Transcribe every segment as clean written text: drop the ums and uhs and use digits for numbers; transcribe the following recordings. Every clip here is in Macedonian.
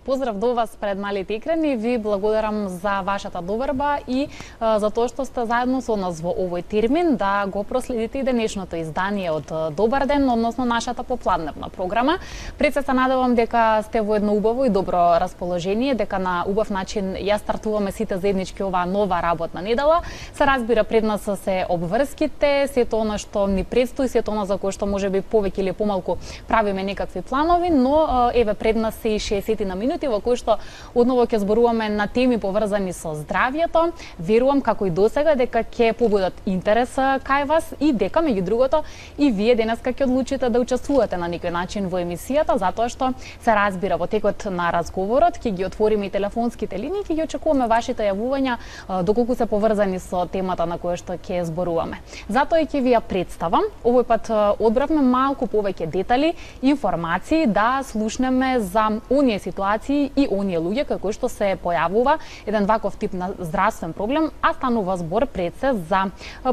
Поздрав до вас пред малите екрани, ви благодарам за вашата доверба и за тоа што сте заедно со нас во овој термин да го проследите и денешното издание од Добар ден, односно нашата попладневна програма. Пред се надевам дека сте во едно убаво и добро расположение, дека на убав начин ја стартуваме сите заеднички оваа нова работна недела. Се разбира пред нас се обврските, сето она што ни предстои, сето она за кое што можеби повеќе или помалку правиме некакви планови, но еве пред нас се и 60 на минути во кои што одново ќе зборуваме на теми поврзани со здравјето. Верувам како и досега дека ќе побудат интерес кај вас и дека меѓу другото и вие денеска ќе одлучите да учествувате на некој начин во емисијата, затоа што се разбира во текот на разговорот ќе ги отвориме и телефонските линии, ќе ги очекуваме вашите јавувања доколку се поврзани со темата на која што ќе зборуваме. Затоа и ќе ви ја представам. Овој пат одбравме малку повеќе детали, информации да слушнеме за оние ситуации и оние луѓе како што се појавува еден ваков тип на здравствен проблем, а станува збор пред се за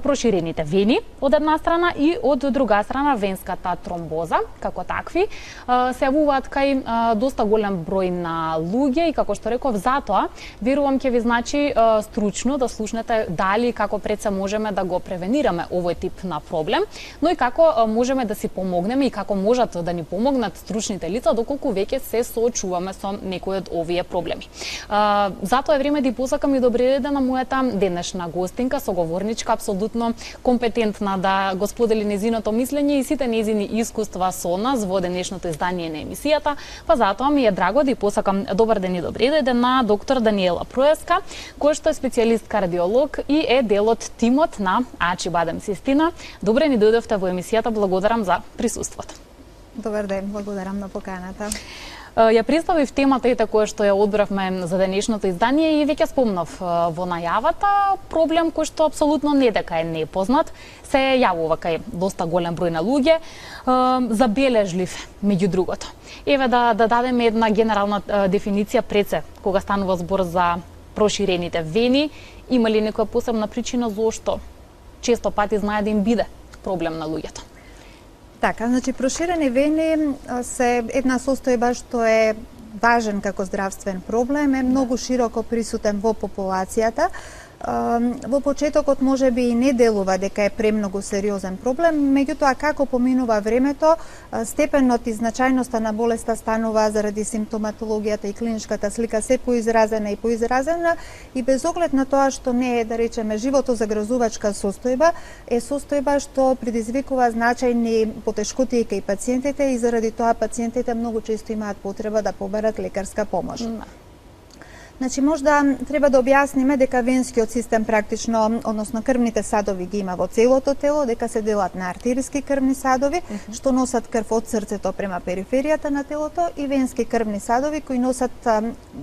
проширените вени од една страна и од друга страна венската тромбоза. Како такви се јавуваат кај доста голем број на луѓе и како што реков, затоа верувам ќе ви значи стручно да слушнете дали како пред се можеме да го превенираме овој тип на проблем, но и како можеме да си помогнеме и како можат да ни помогнат стручните лица доколку веќе се соочуваме со некои од овие проблеми. Затоа е време да и посакам и добре дојде на мојата денешна гостинка, соговорничка, апсолутно компетентна да го сподели незиното мислење и сите незини искуства со нас во денешното издание на емисијата, па затоа ми е драго да и посакам добар ден и добре дојде на доктор Даниела Проеска, кој што е специјалист кардиолог и е дел од тимот на Ачибадем Систина. Добре ни дојдовте во емисијата, благодарам за присуството. Добар ден, благодарам на поканата. Ја представив темата ете која што ја одбравме за денешното издание и веќе спомнав во најавата проблем кој што апсолутно не дека е непознат, се јавува кај доста голем број на луѓе, забележлив меѓу другото. Еве да дадеме една генерална дефиниција пред се кога станува збор за проширените вени, има ли некоја посебна причина зошто често пати знае да им биде проблем на луѓето? Така, значи проширени вени се една состојба што е важен како здравствен проблем, е многу широко присутен во популацијата. Во почетокот може би и не делува дека е премногу сериозен проблем, меѓутоа како поминува времето, степенот и значајноста на болеста станува заради симптоматологијата и клиничката слика се поизразена и без оглед на тоа што не е, да речеме, животозагрозувачка состојба, е состојба што предизвикува значајни потешкотии кај пациентите и заради тоа пациентите многу често имаат потреба да побарат лекарска помош. Значи, можда треба да објасниме дека венскиот систем практично, односно крвните садови ги има во целото тело, дека се делат на артериски крвни садови, што носат крв од срцето према периферијата на телото и венски крвни садови кои носат,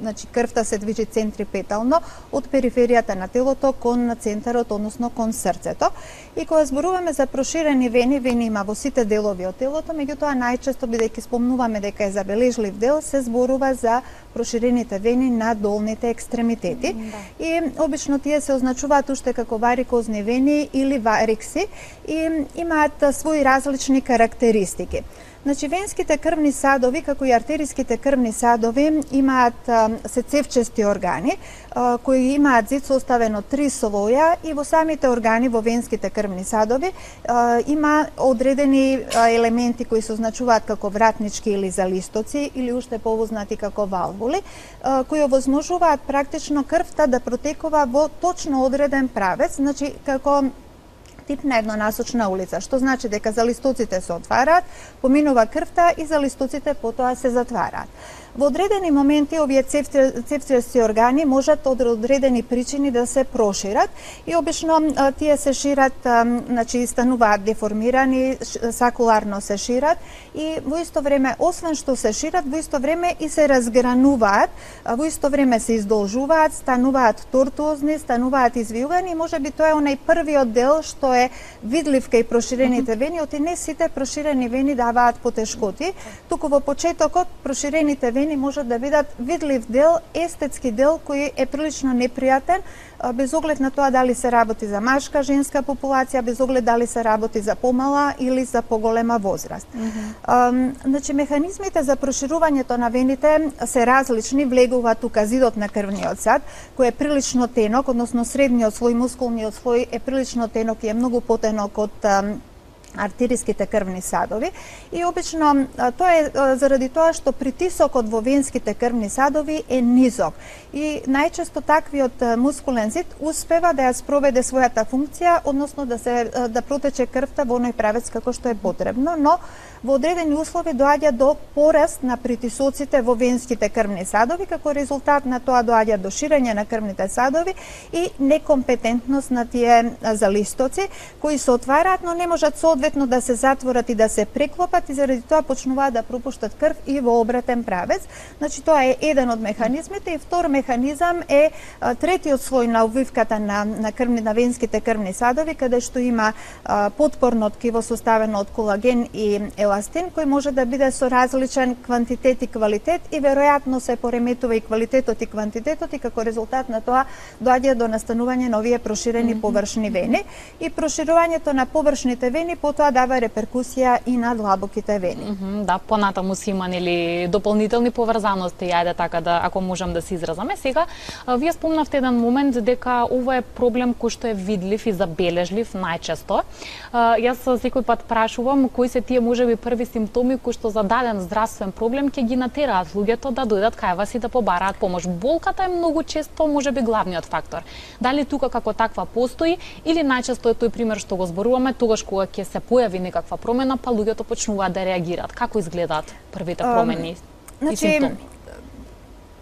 значи крвта се движи центрипетално од периферијата на телото кон центарот, односно кон срцето. И кога зборуваме за проширени вени, вени има во сите делови од телото, меѓутоа најчесто бидејќи спомнуваме дека е забележлив дел, се зборува за проширените вени на долните екстремитети. И обично тие се означуваат уште како варикозни вени или варикси и имаат своји различни карактеристики. Значи, венските крвни садови, како и артериските крвни садови, имаат се цевчести органи, кои имаат зид составен од 3 слоја и во самите органи во венските крвни садови има одредени елементи кои се означуваат како вратнички или залистоци или уште повознати како валвули, кои овозможуваат практично крвта да протекува во точно одреден правец, значи како тип на еднонасочна улица, што значи дека залистоците се отвараат, поминува крвта и залистоците потоа се затвараат. Во одредени моменти овие цевчести органи можат од одредени причини да се прошират и обично тие се шират, значи стануваат деформирани, сакуларно се шират и во исто време, освен што се шират, во исто време и се разгрануваат, во исто време се издолжуваат, стануваат тортуозни, стануваат извиугани и можеби тоа е онај првиот дел што е видлив кај проширените вени, оти не сите проширени вени даваат потешкоти, туку во почетокот проширените вени вени можат да бидат видлив дел, естетски дел кој е прилично непријатен, без оглед на тоа дали се работи за машка, женска популација, без оглед дали се работи за помала или за поголема возраст. Значи, механизмите за проширувањето на вените се различни, влегува тука зидот на крвниот сад, кој е прилично тенок, односно средниот слој, мускулниот слој е прилично тенок и е многу потенок од артериските крвни садови и обично тоа е заради тоа што притисокот во венските крвни садови е низок и најчесто таквиот мускулен зид успева да ја спроведе својата функција, односно да протече крвта во оној правец како што е потребно, но во одредени услови доаѓа до пораст на притисоците во венските крвни садови, како резултат на тоа доаѓа до ширење на крвните садови и некомпетентност на тие залистоци кои се отвараат, но не можат соодветно да се затворат и да се преклопат и заради тоа почнуваат да пропуштат крв и во обратен правец. Значи тоа е еден од механизмите и втор механизам е третиот слој на обвивката на венските крвни садови, каде што има потпорно ткиво составено од колаген и еластин, кој може да биде со различен квантитет и квалитет и веројатно се пореметува и квалитетот и квантитетот и како резултат на тоа доаѓа до настанување на овие проширени површни вени и проширувањето на површните вени потоа дава реперкусија и на длабоките вени. Да, понатаму си има нели дополнителни поврзаности, ајде така да ако можам да се изразаме. Сега вие спомнавте еден момент дека ова е проблем кој што е видлив и забележлив најчесто. Јас секој пат прашувам кои се тие можеби први симптоми кои што за даден здравствен проблем ќе ги натераат луѓето да дојдат кај вас и да побараат помош. Болката е многу често можеби главниот фактор. Дали тука како таква постои или најчесто е тој пример што го зборуваме тогаш кога ќе се појави некаква промена, па луѓето почнуваат да реагираат. Како изгледаат првите промени и симптоми?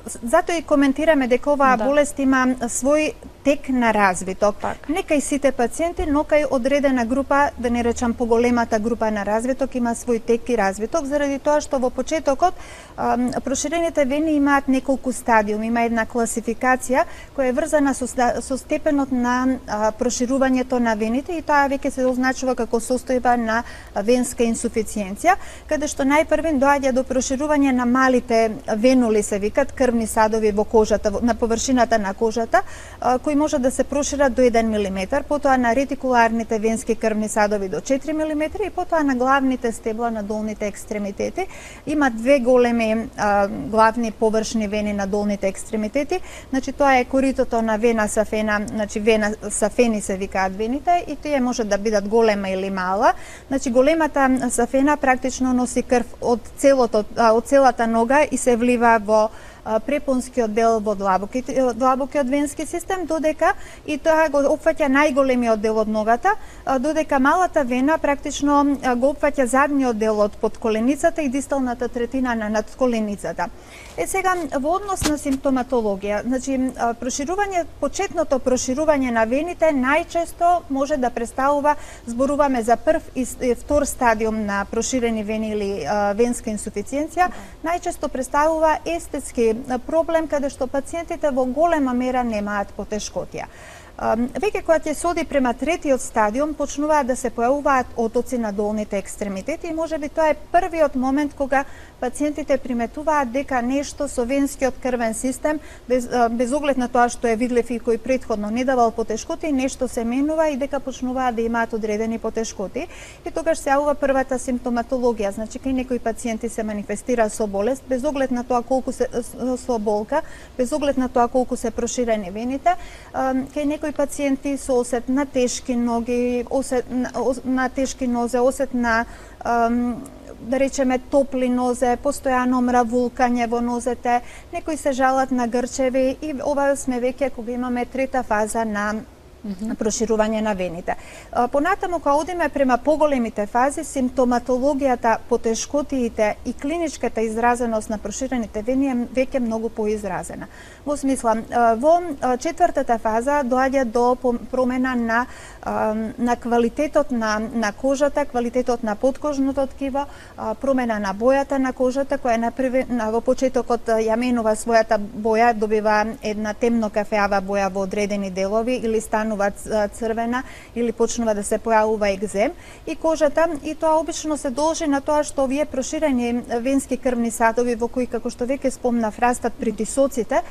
Затоа и коментираме дека оваа болест има свој тек на развиток. Не кај сите пациенти, но кај одредена група, да не речам поголемата група на развиток, има свој тек и развиток, заради тоа што во почетокот проширените вени имаат неколку стадиуми, има една класификација која е врзана со степенот на проширувањето на вените и тоа веќе се означува како состојба на венска инсуфициенција, каде што најпрвен доаѓа до проширување на малите венули, се викат крвни садови во кожата, на површината на кожата, кои може да се прошират до 1 мм, потоа на ретикуларните венски крвни садови до 4 мм и потоа на главните стебла на долните екстремитети. Има две големи главни површни вени на долните екстремитети. Значи тоа е коритото на вена сафена, значи вена сафени се викаат вените и тие може да бидат голема или мала. Значи големата сафена практично носи крв од целата нога и се влива во препонскиот дел во длабокиот венски систем, додека и тоа го опфаќа најголемиот дел од ногата, додека малата вена практично го опфаќа задниот дел од подколеницата и дисталната третина на надколеницата. Сега во однос на симптоматологија, значи почетното проширување на вените најчесто може да представува, зборуваме за прв и втор стадиум на проширени вени или венска инсуфициенција, најчесто представува естетски проблем каде што пациентите во голема мера немаат потешкотија. Веќе кога ќе се оди према третиот стадиум, почнуваат да се појавуваат отоци на долните екстремитети и можеби тоа е првиот момент кога пациентите приметуваат дека нешто со венскиот крвен систем, без оглед на тоа што е видлив и кој претходно не давал потешкоти, нешто се менува и дека почнуваат да имаат одредени потешкоти. И тогаш се јавува првата симптоматологија, значи кај некои пациенти се манифестира со болест, без оглед на тоа колку се со болка, без оглед на тоа колку се проширени вените, кај некои пациенти со осет на тешки ноги, осет на тешки нозе, осет на да речеме топли нозе, постојано мравулкање во нозете, некои се жалат на грчеви и ова сме веќе кога имаме трета фаза на проширување на вените. Понатаму кога одиме према поголемите фази, симптоматологијата, потешкотиите и клиничката изразеност на проширените вени е веќе многу поизразена. Во смисла, во четвртата фаза доаѓа до промена на квалитетот на кожата, квалитетот на подкожното ткиво, промена на бојата на кожата, која во почетокот ја менува својата боја, добива една темно кафеава боја во одредени делови или станува станува црвена или почнува да се појавува екзем и кожата, и тоа обично се должи на тоа што овие проширени венски крвни садови во кои, како што веќе спомнав, растат притисоците,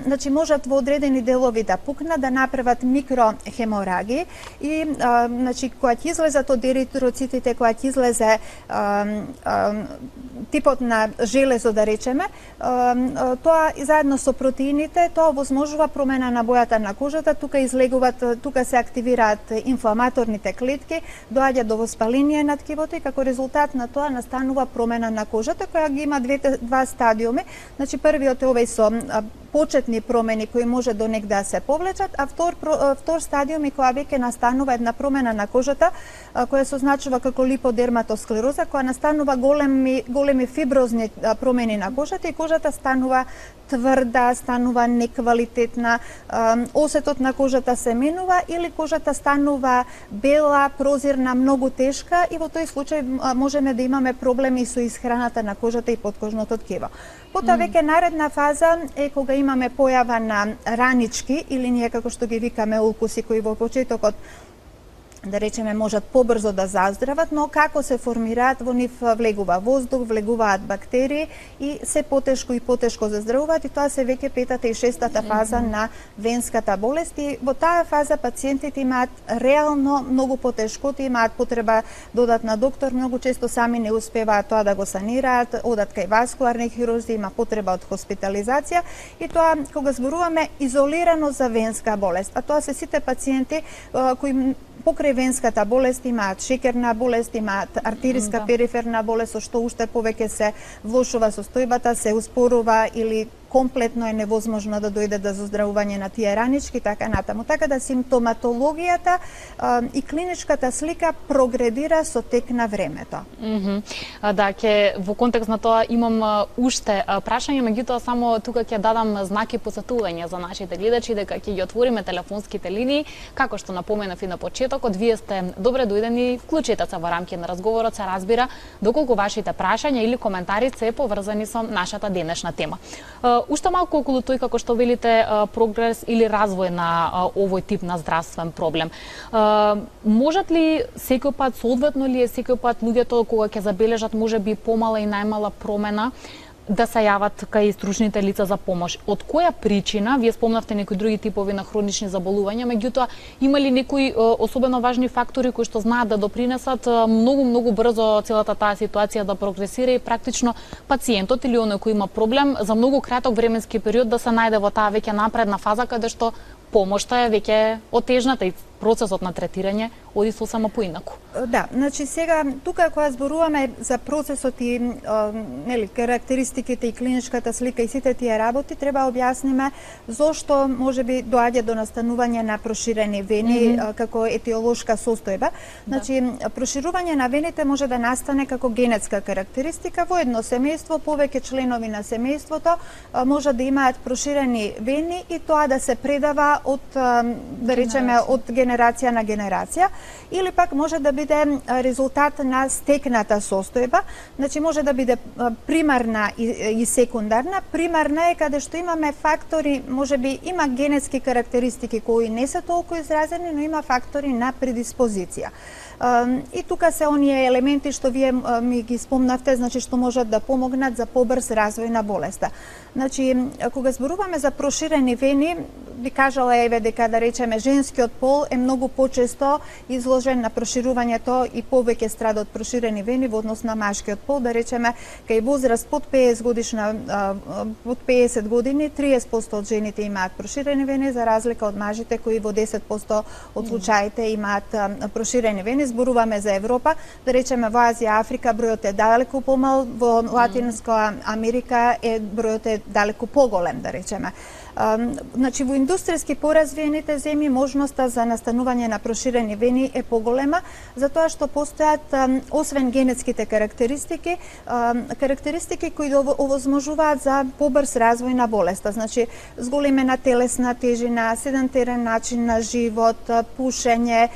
значи можат во одредени делови да пукнат, да направат микрохеморагии и значи кога ќе излезат од еритроцитите, кога ќе излезе типот на железо, да речеме, тоа и заедно со протеините, тоа возможува промена на бојата на кожата, тука се активираат инфламаторните клетки, доаѓа до воспаление на ткивото и како резултат на тоа настанува промена на кожата која ги има два стадиуми. Значи првиот е овој со почетни промени кои може до негде да се повлечат, а втор стадиум и која веќе настанува една промена на кожата која се означува како липодерматосклероза, која настанува големи фиброзни промени на кожата и кожата станува тврда, станува неквалитетна, осетот на кожата се менува или кожата станува бела, прозирна, многу тешка и во тој случај можеме да имаме проблеми со исхраната на кожата и подкожното ткиво. Потоа веќе наредна фаза е кога имаме појава на ранички или ние како што ги викаме улкуси кои во почетокот да речеме можат побрзо да заздрават, но како се формираат, во нив влегува воздух, влегуваат бактерии и се потешко и потешко заздравуваат и тоа се веќе петата и шестата фаза на венската болест и во таа фаза пациентите имаат реално многу потешкоти, имаат потреба да одат на доктор, многу често сами не успеваат тоа да го санираат, одат кај васкуларни хирурзи, има потреба од хоспитализација и тоа кога зборуваме изолирано за венска болест, а тоа се сите пациенти кои покрај венската болест имаат шеќерна болест, имаат артериска периферна болест, со што уште повеќе се влошува состојбата, се успорува или комплетно е невозможно да дојде до заздравување на тие ранички, така натаму. Така да симптоматологијата и клиничката слика прогредира со тек на времето. Да, во контекст на тоа имам уште прашање, меѓутоа само тука ќе дадам знаки посетување за нашите гледачи дека ќе ги отвориме телефонските линии. Како што напоменав и на почетокот, вие сте добре дојдени, вклучете се во рамки на разговорот, се разбира доколку вашите прашања или коментари се поврзани со нашата денешна тема. Уште малку околу тој, како што велите, прогрес или развој на овој тип на здравствен проблем. Можат ли секој пат, соодветно ли е секој пат луѓето кога ќе забележат можеби помала и најмала промена, да се јават кај стручните лица за помош? Од која причина? Вие спомнавте некои други типови на хронични заболувања, меѓутоа има ли некои особено важни фактори кои што знаат да допринесат многу брзо целата таа ситуација да прогресира и практично пациентот или оној кој има проблем за многу краток временски период да се најде во таа веќе напредна фаза каде што помошта е веќе отежната и процесот на третирање оди сосема поинаку. Да, значи сега тука кога зборуваме за процесот и нели карактеристиките и клиничката слика и сите тие работи, треба објасниме зошто можеби доаѓа до настанување на проширени вени како етиолошка состојба. Значи проширување на вените може да настане како генетска карактеристика во едно семејство, повеќе членови на семејството може да имаат проширени вени и тоа да се предава од да речеме од генерација на генерација или пак може да биде резултат на стекната состојба, значи може да биде примарна и секундарна. Примарна е каде што имаме фактори, можеби има генетски карактеристики кои не се толку изразени, но има фактори на предиспозиција. И тука се оние елементи што вие ми ги спомнавте, значи што можат да помогнат за побрз развој на болеста. Значи, кога зборуваме за проширени вени, би кажала еве дека да речеме женскиот пол е многу почесто изложен на проширувањето и повеќе страда од проширени вени во однос на машкиот пол, да речеме кај возраст под 50 годишна под 50 години 30% од жените имаат проширени вени за разлика од мажите кои во 10% од случаите имаат проширени вени. Зборуваме за Европа, да речеме во Азија, Африка бројот е далеку помал, во Латинска Америка бројот е далеку поголем, да речеме. Значи во индустријски поразвиените земји можноста за настанување на проширени вени е поголема, затоа што постојат освен генетските карактеристики кои овозможуваат за побрз развој на болеста. Значи зголемена телесна тежина, седентарен начин на живот, пушење,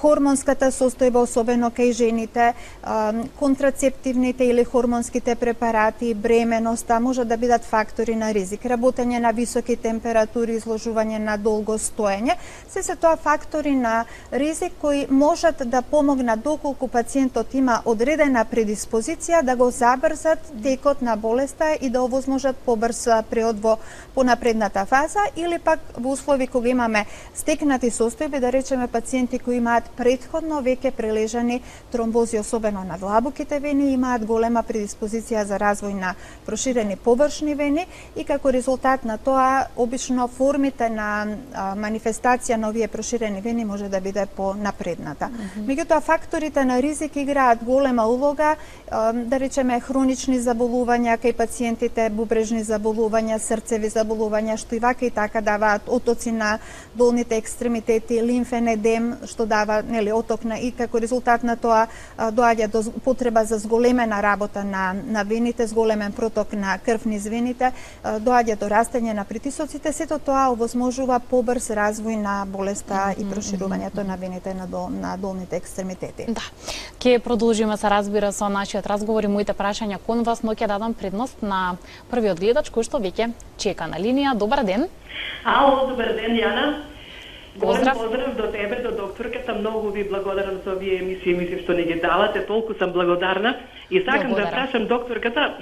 хормонската состојба, особено кај жените, контрацептивните или хормонските препарати, бременоста, може да бидат фактори на ризик. Работење на високи температури, изложување на долго стоење, се тоа фактори на ризик кои можат да помогнат доколку пациентот има одредена предиспозиција да го забрзат текот на болеста и да овозможат побрз преход во понапредната фаза, или пак во услови кога имаме стекнати состојби, да речеме пациенти кои имаат претходно веќе прележани тромбози, особено на длабоките вени, имаат голема предиспозиција за развој на проширени површни вени и како резултат на тоа обично формите на манифестација на овие проширени вени може да биде понапредната. Меѓутоа факторите на ризик играат голема улога, да речеме хронични заболувања кај пациентите, бубрежни заболувања, срцеви заболувања, што и вака и така даваат отоци на долните екстремитети, лимфен едем, што дава оток на, и како резултат на тоа доаѓа до потреба за зголемена работа на вените, зголемен проток на крв низ вените, доаѓа до растење на притисоците, сето тоа овозможува побрз развој на болеста и проширувањето на вените на долните екстремитети. Да. Ќе продолжиме, се разбира, со нашиот разговор и моите прашања кон вас, но ќе дадам предност на првиот гледач кој што веќе чека на линија. Добар ден. Ало, добар ден, Јана. Поздрав. Поздрав до тебе, до докторката. Многу ви благодарам за овие емисии, мислам што ни ги давате, толку сум благодарна. И сакам да прашам докторката,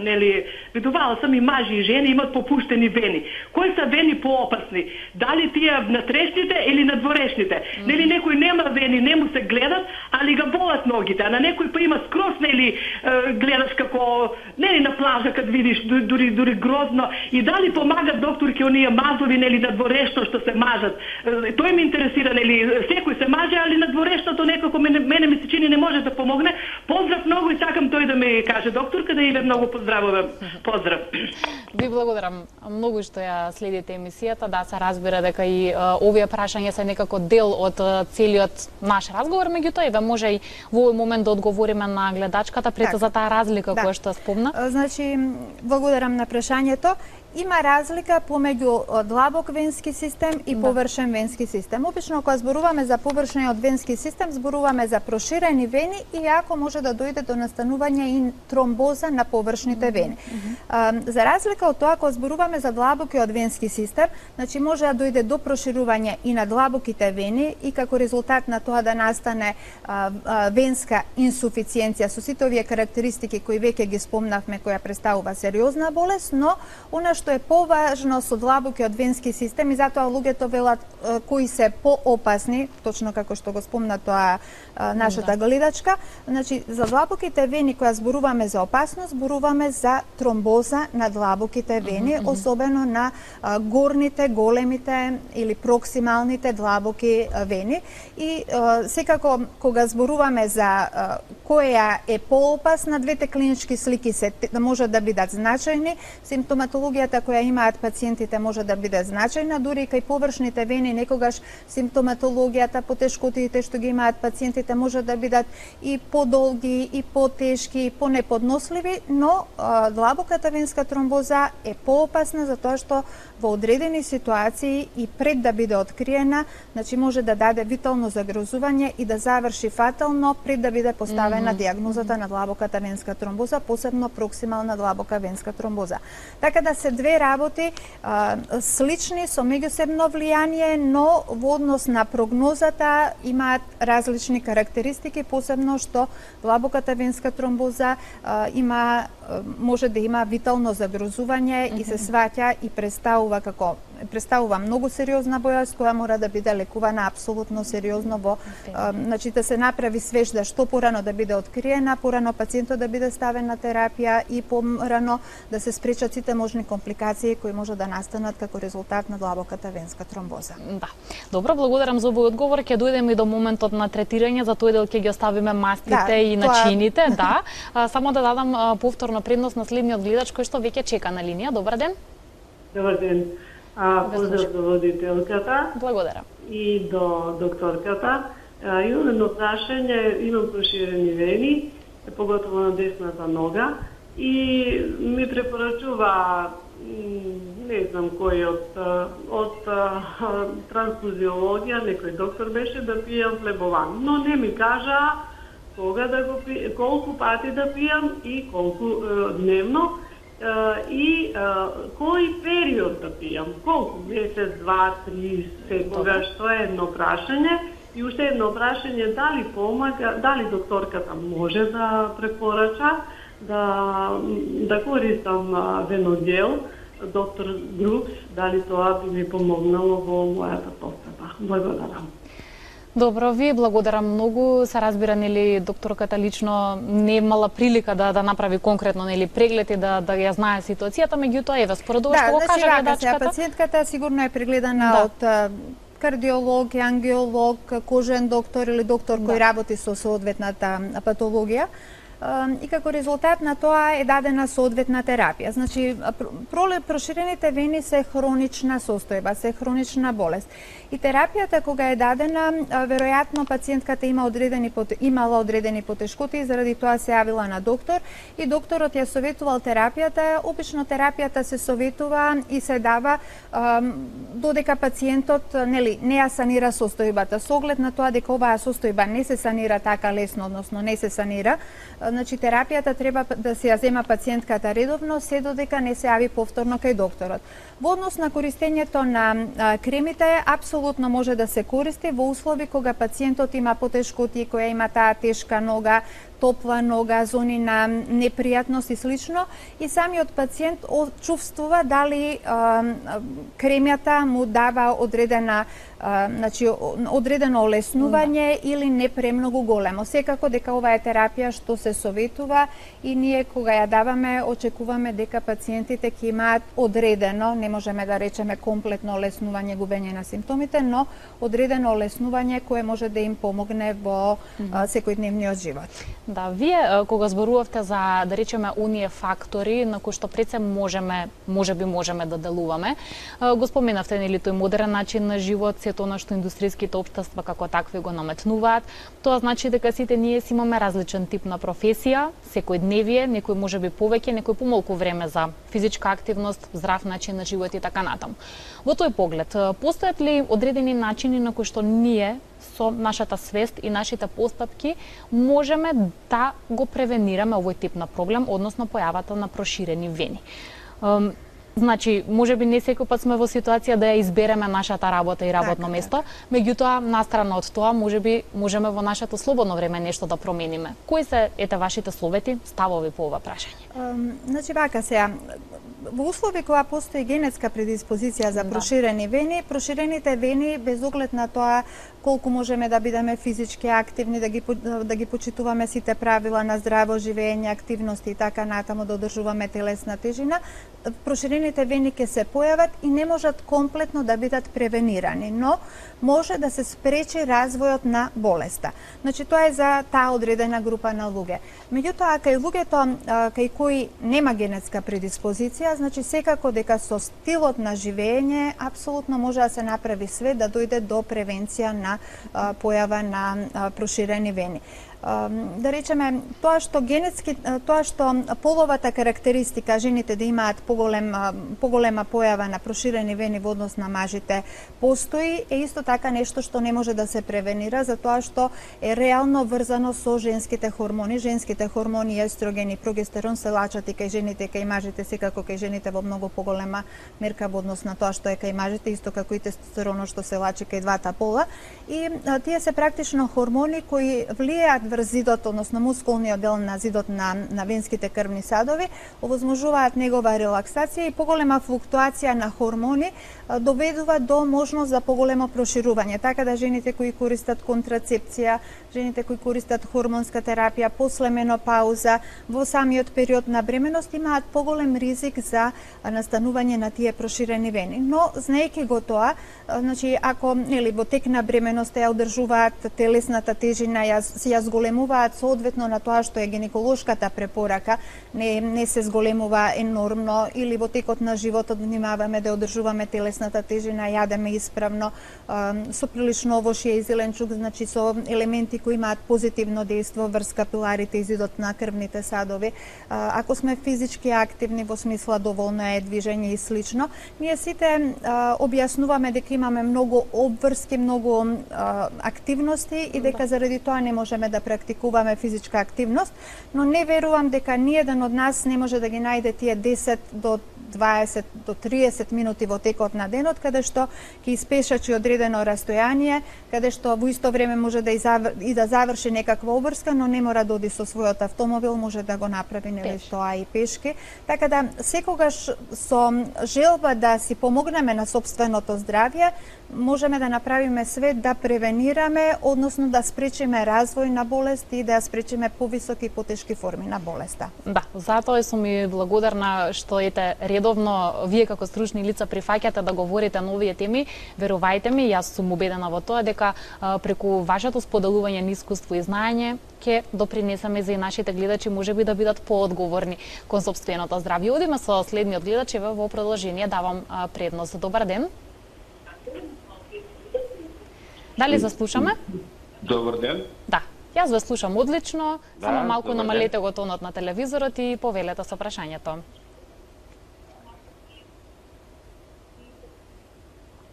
видувала сам и мажи и жени имат попуштени вени. Кои се вени поопасни? Дали тие натрешните или надворешните? Некој нема вени, не му се гледат, али ga болат ногите, а на некој па има скрос, гледаш како на плажа кад видиш дури грозно. И дали помагат докторки оние мазови, надворешно што се мажат? Тој ме интересира, секој се маже, али надворешното некако мене ми се чини не може да помогне. Поздрав многу и сакам тој да ми каже докторка, да ве многу поздравувам. Поздрав. Ви благодарам многу што ја следите емисијата. Да, се разбира дека и овие прашања се некако дел од целиот наш разговор, меѓутоа и може и во овој момент да одговориме на гледачката пред за таа разлика која што спомна. Значи, благодарам на прашањето. Има разлика помеѓу длабок венски систем и површен венски систем. Обично кога зборуваме за површниот венски систем, зборуваме за проширени вени и ако може да дојде до настанување и тромбоза на површните вени. За разлика од тоа, кога зборуваме за длабокиот венски систем, значи може да дојде до проширување и на длабоките вени и како резултат на тоа да настане венска инсуфициенција со сите овие карактеристики кои веќе ги спомнавме, која представува сериозна болест, но она што е поважно со длабокиот венски систем и затоа луѓето велат кои се поопасни, точно како што го спомна тоа нашата гледачка, значи за длабоките вени кога зборуваме за опасност, зборуваме за тромбоза на длабоките вени, особено на горните, големите или проксималните длабоки вени. И секако кога зборуваме за која е поопасна, двете клинички слики се може да бидат значајни, симптоматологијата која имаат пациентите може да биде значајна, дури и кај површните вени некогаш симптоматологијата, потешкотиите што ги имаат пациентите може да бидат и подолги, и потешки, и понеподносливи, но длабоката венска тромбоза е поопасна затоа што во одредени ситуации и пред да биде откриена, значи може да даде витално загрозување и да заврши фатално пред да биде поставена диагнозата на длабоката венска тромбоза, посебно проксимална длабока венска тромбоза. Така да се две работи слични со меѓусебно влијание, но во однос на прогнозата имаат различни карактеристики, посебно што длабоката венска тромбоза може да има витално загрозување и се сваќа и представува многу сериозна бојаст која мора да биде лекувана апсолутно сериозно значи да се направи свеж да што порано да биде откриена, порано пациентот да биде ставен на терапија и порано да се спречат сите можни компликации кои може да настанат како резултат на длабоката венска тромбоза. Да. Добро, благодарам за овој одговор. Ќе дојдеме и до моментот на третирање, за тој дел ќе ги оставиме мастите и начините, да. Само да дадам повторно предност на следниот гледач кој што веќе чека на линија. Добар ден. Добар ден. Поздрав до водителката. Благодарам. И до докторката. Имам едно прашање, имам проширени вени, поготово на десната нога, и ми препорачува, не знам кој од трансфузиологија, некој доктор беше да пијам флебован, но не ми кажа кога да го колку пати да пијам и колку дневно. и кој период да пијам, колку, месец, 2, 3, секогаш, тоа е едно прашање. И уште едно прашање, дали помага, дали докторката може да препорача да користам веногел, доктор Групс, дали тоа би ми помогнало во мојата постапа. Благодарам. Добро, ви благодарам многу. Се разбира, нели, докторката лично не имала прилика да направи конкретно, нели, преглед и да ја знае ситуацијата, меѓутоа еве според ова што го кажа гледачката. Пациентката сигурно е прегледана од кардиолог, ангиолог, кожен доктор или доктор кој работи со соодветната патологија. И како резултат на тоа е дадена соодветна терапија. Значи, проширените вени се хронична состојба, се хронична болест. И терапијата кога е дадена, веројатно пациентката имала одредени потешкоти, заради тоа се јавила на доктор и докторот ја советувал терапијата. Обично терапијата се советува и се дава додека пациентот не ја санира состојбата. Со оглед на тоа дека оваа состојба не се санира така лесно, односно не се санира, значи терапијата треба да се ја зема пациентката редовно, се додека не се јави повторно кај докторот. Во однос на користењето на кремите, апсолутно може да се користи во услови кога пациентот има потешкоти, која има таа тешка нога, топла нога, зони на непријатност и слично, и самиот пациент чувствува дали кремјата му дава одредено олеснување или не премногу големо. Секако дека ова е терапија што се советува и ние кога ја даваме очекуваме дека пациентите ќе имаат одредено, не можеме да речеме комплетно олеснување, губење на симптомите, но одредено олеснување кое може да им помогне во секојдневниот живот. Да, вие кога зборувавте за, да речеме, оние фактори на кои што пред се можеме да делуваме, го споменавте, нели, тој модерен начин на живот, сето она што индустријските општества како такви го наметнуваат. Тоа значи дека сите ние си имаме различен тип на професија, секојдневие, некој можеби повеќе, некој помалку време за физичка активност, здрав начин на живот и така натаму. Во тој поглед, постојат ли одредени начини на кои што ние со нашата свест и нашите постапки можеме да го превенираме овој тип на проблем, односно појавата на проширени вени? Значи, можеби не секој пат сме во ситуација да ја избереме нашата работа и работно место, меѓутоа, настрана од тоа, можеме во нашето слободно време нешто да промениме. Кои се вашите совети, ставови по ова прашање? Значи, вака сега, во услови кога постои генетска предиспозиција за проширени вени, проширените вени, без оглед на тоа колку можеме да бидеме физички активни, да ги почитуваме сите правила на здраво живење, активности и така натаму, да одржуваме телесна тежина, проширените вени ќе се појават и не можат комплетно да бидат превенирани, но може да се спречи развојот на болеста. Значи, тоа е за таа одредена група на луѓе. Меѓутоа, кај луѓето кај кои нема генетска предиспозиција, значи секако дека со стилот на живење апсолутно може да се направи све да дојде до превенција на појава на проширени вени. Да речеме, тоа што половата карактеристика жените да имаат поголема појава на проширени вени во однос на мажите постои, е исто така нешто што не може да се превенира, затоа што е реално врзано со женските хормони. Женските хормони, естроген и прогестерон, се лачат и кај жените и кај мажите, секако кај жените во многу поголема мерка во однос на тоа што е кај мажите, исто како и тестостеронот што се лачи кај двата пола. И тие се практично хормони кои влијаат врз зидот, односно мускулниот дел на зидот на венските крвни садови, овозможуваат негова релаксација и поголема флуктуација на хормони доведува до можност за поголемо проширување. Така да жените кои користат контрацепција, жените кои користат хормонска терапија после менопауза, во самиот период на бременост имаат поголем ризик за настанување на тие проширени вени. Но знаејќи го тоа, значи ако во тек на бременост ја одржуваат телесната тежина, ја зголемуваат соодветно на тоа што е гинеколошката препорака, не се зголемува енормно, или во текот на животот внимаваме да одржуваме телесната тежина, јадеме исправно, со прилично овошје и зеленчук, значи со елементи кои имаат позитивно дејство врз капиларите и зидот на крвните садови. Ако сме физички активни во смисла доволно е движење и слично, ние сите објаснуваме дека имаме многу обврски, многу активности и дека заради тоа не можеме да практикуваме физичка активност, но не верувам дека ниеден од нас не може да ги најде тие 10 до 20 до 30 минути во текот на денот, каде што ќе испешачи одредено растојание, каде што во исто време може да да заврши некаква обврска, но не мора да оди со својот автомобил, може да го направи нели тоа и пешки. Така да секогаш со желба да си помогнеме на сопственото здравје, можеме да направиме све да превенираме, односно да спречиме развој на болести и да ја спречиме повисоки и потешки форми на болеста. Да, затоа сум и благодарна што ете редовно вие како стручни лица прифаќате да говорите на овие теми. Верувајте ми, јас сум убедена во тоа дека преку вашето споделување на искуство и знаење ќе допринесеме за и нашите гледачи можеби да бидат поодговорни кон сопственото здравје. Одиме со следниот гледач, еве во продолжение давам предност. Добар ден. Дали заслушаме? Добар ден. Да, јас ве слушам одлично, Да, само малку добар намалете ден. го тонот на телевизорот и повелете со прашањето.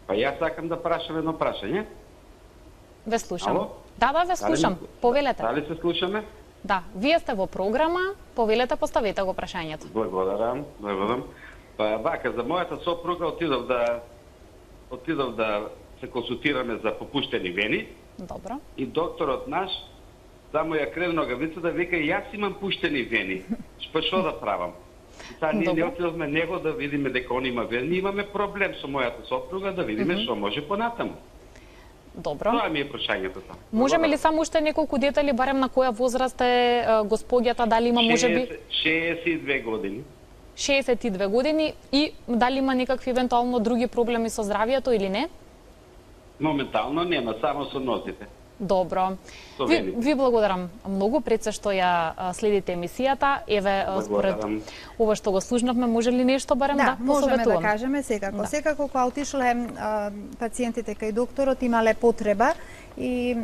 Па јас сакам да прашам едно прашање. Ве слушам. Ало? Да, ве слушам. Повелете. Дали се слушаме? Да, вие сте во програма, повелете, поставете го прашањето. Благодарам. Па вака, за мојата сопруга отидов да се консултираме за попуштени вени Добро. и докторот наш само ја крен ногавица да вика јас имам пуштени вени. Па што да правам? Таа ние не отидовме него да видиме дека он има вени, имаме проблем со мојата сопруга да видиме што може понатаму. Добро. Тоа ми е прашањето тоа. Можеме ли само уште неколку детали, барем на која возраст е господјата, дали има можеби 62 години. 62 години и дали има некакви евентуално други проблеми со здравјето или не? Моментално нема, само со нозите. Добро. Ви благодарам многу пред се што ја следите емисијата. Еве според ова што го слушнавме, може ли нешто барем да посоветуваме? Да, можеме да кажеме секако. Да. Секако кога отишле пациентите кај докторот имале потреба и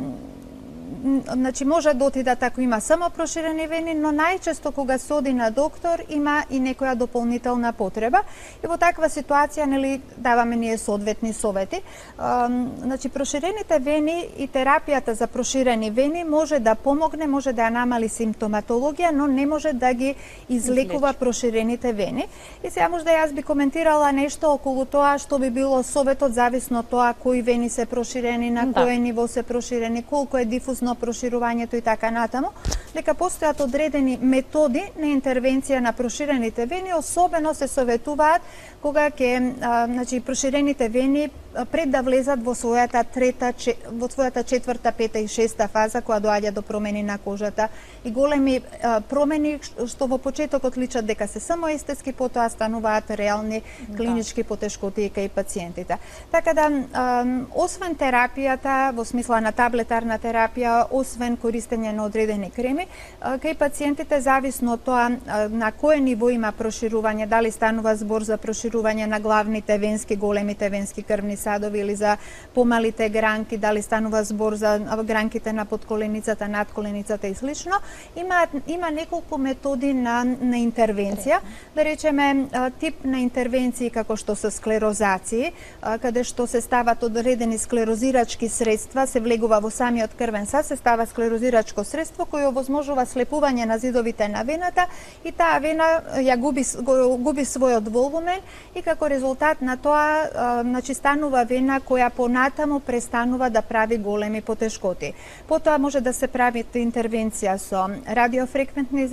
значи може да отидат ако има само проширени вени, но најчесто кога се оди на доктор има и некоја дополнителна потреба и во таква ситуација нели даваме ние соодветни совети. Значи проширените вени и терапијата за проширени вени може да помогне, може да ја намали симптоматологија, но не може да ги излекува проширените вени. И сега може да јас би коментирала нешто околу тоа што би било советот зависно од тоа кои вени се проширени, на кое ниво се проширени, колку е дифузно проширувањето и така натаму, дека постојат одредени методи на интервенција на проширените вени, особено се советуваат кога ќе значи проширените вени пред да влезат во својата четврта, пета и шеста фаза која доаѓа до промени на кожата и големи промени што во почетокот личат дека се само естетски, потоа стануваат реални клинички потешкоти кај пациентите. Така да освен терапијата во смисла на таблетарна терапија, освен користење на одредени креми, кај пациентите зависно од тоа на кое ниво има проширување, дали станува збор за проширување на главните венски, големите венски крвни садови или за помалите гранки, дали станува збор за гранките на подколеницата, надколеницата и слично, има неколку методи на интервенција, да речеме тип на интервенции како што се склерозации, каде што се стават одредени склерозирачки средства, се влегува во самиот крвен сад, се става склерозирачко средство кој овозможува слепување на зидовите на вената и таа вена ја губи својот волумен и како резултат на тоа значи станува вена која понатаму престанува да прави големи потешкоти. Потоа може да се прави интервенција со радиофреквентни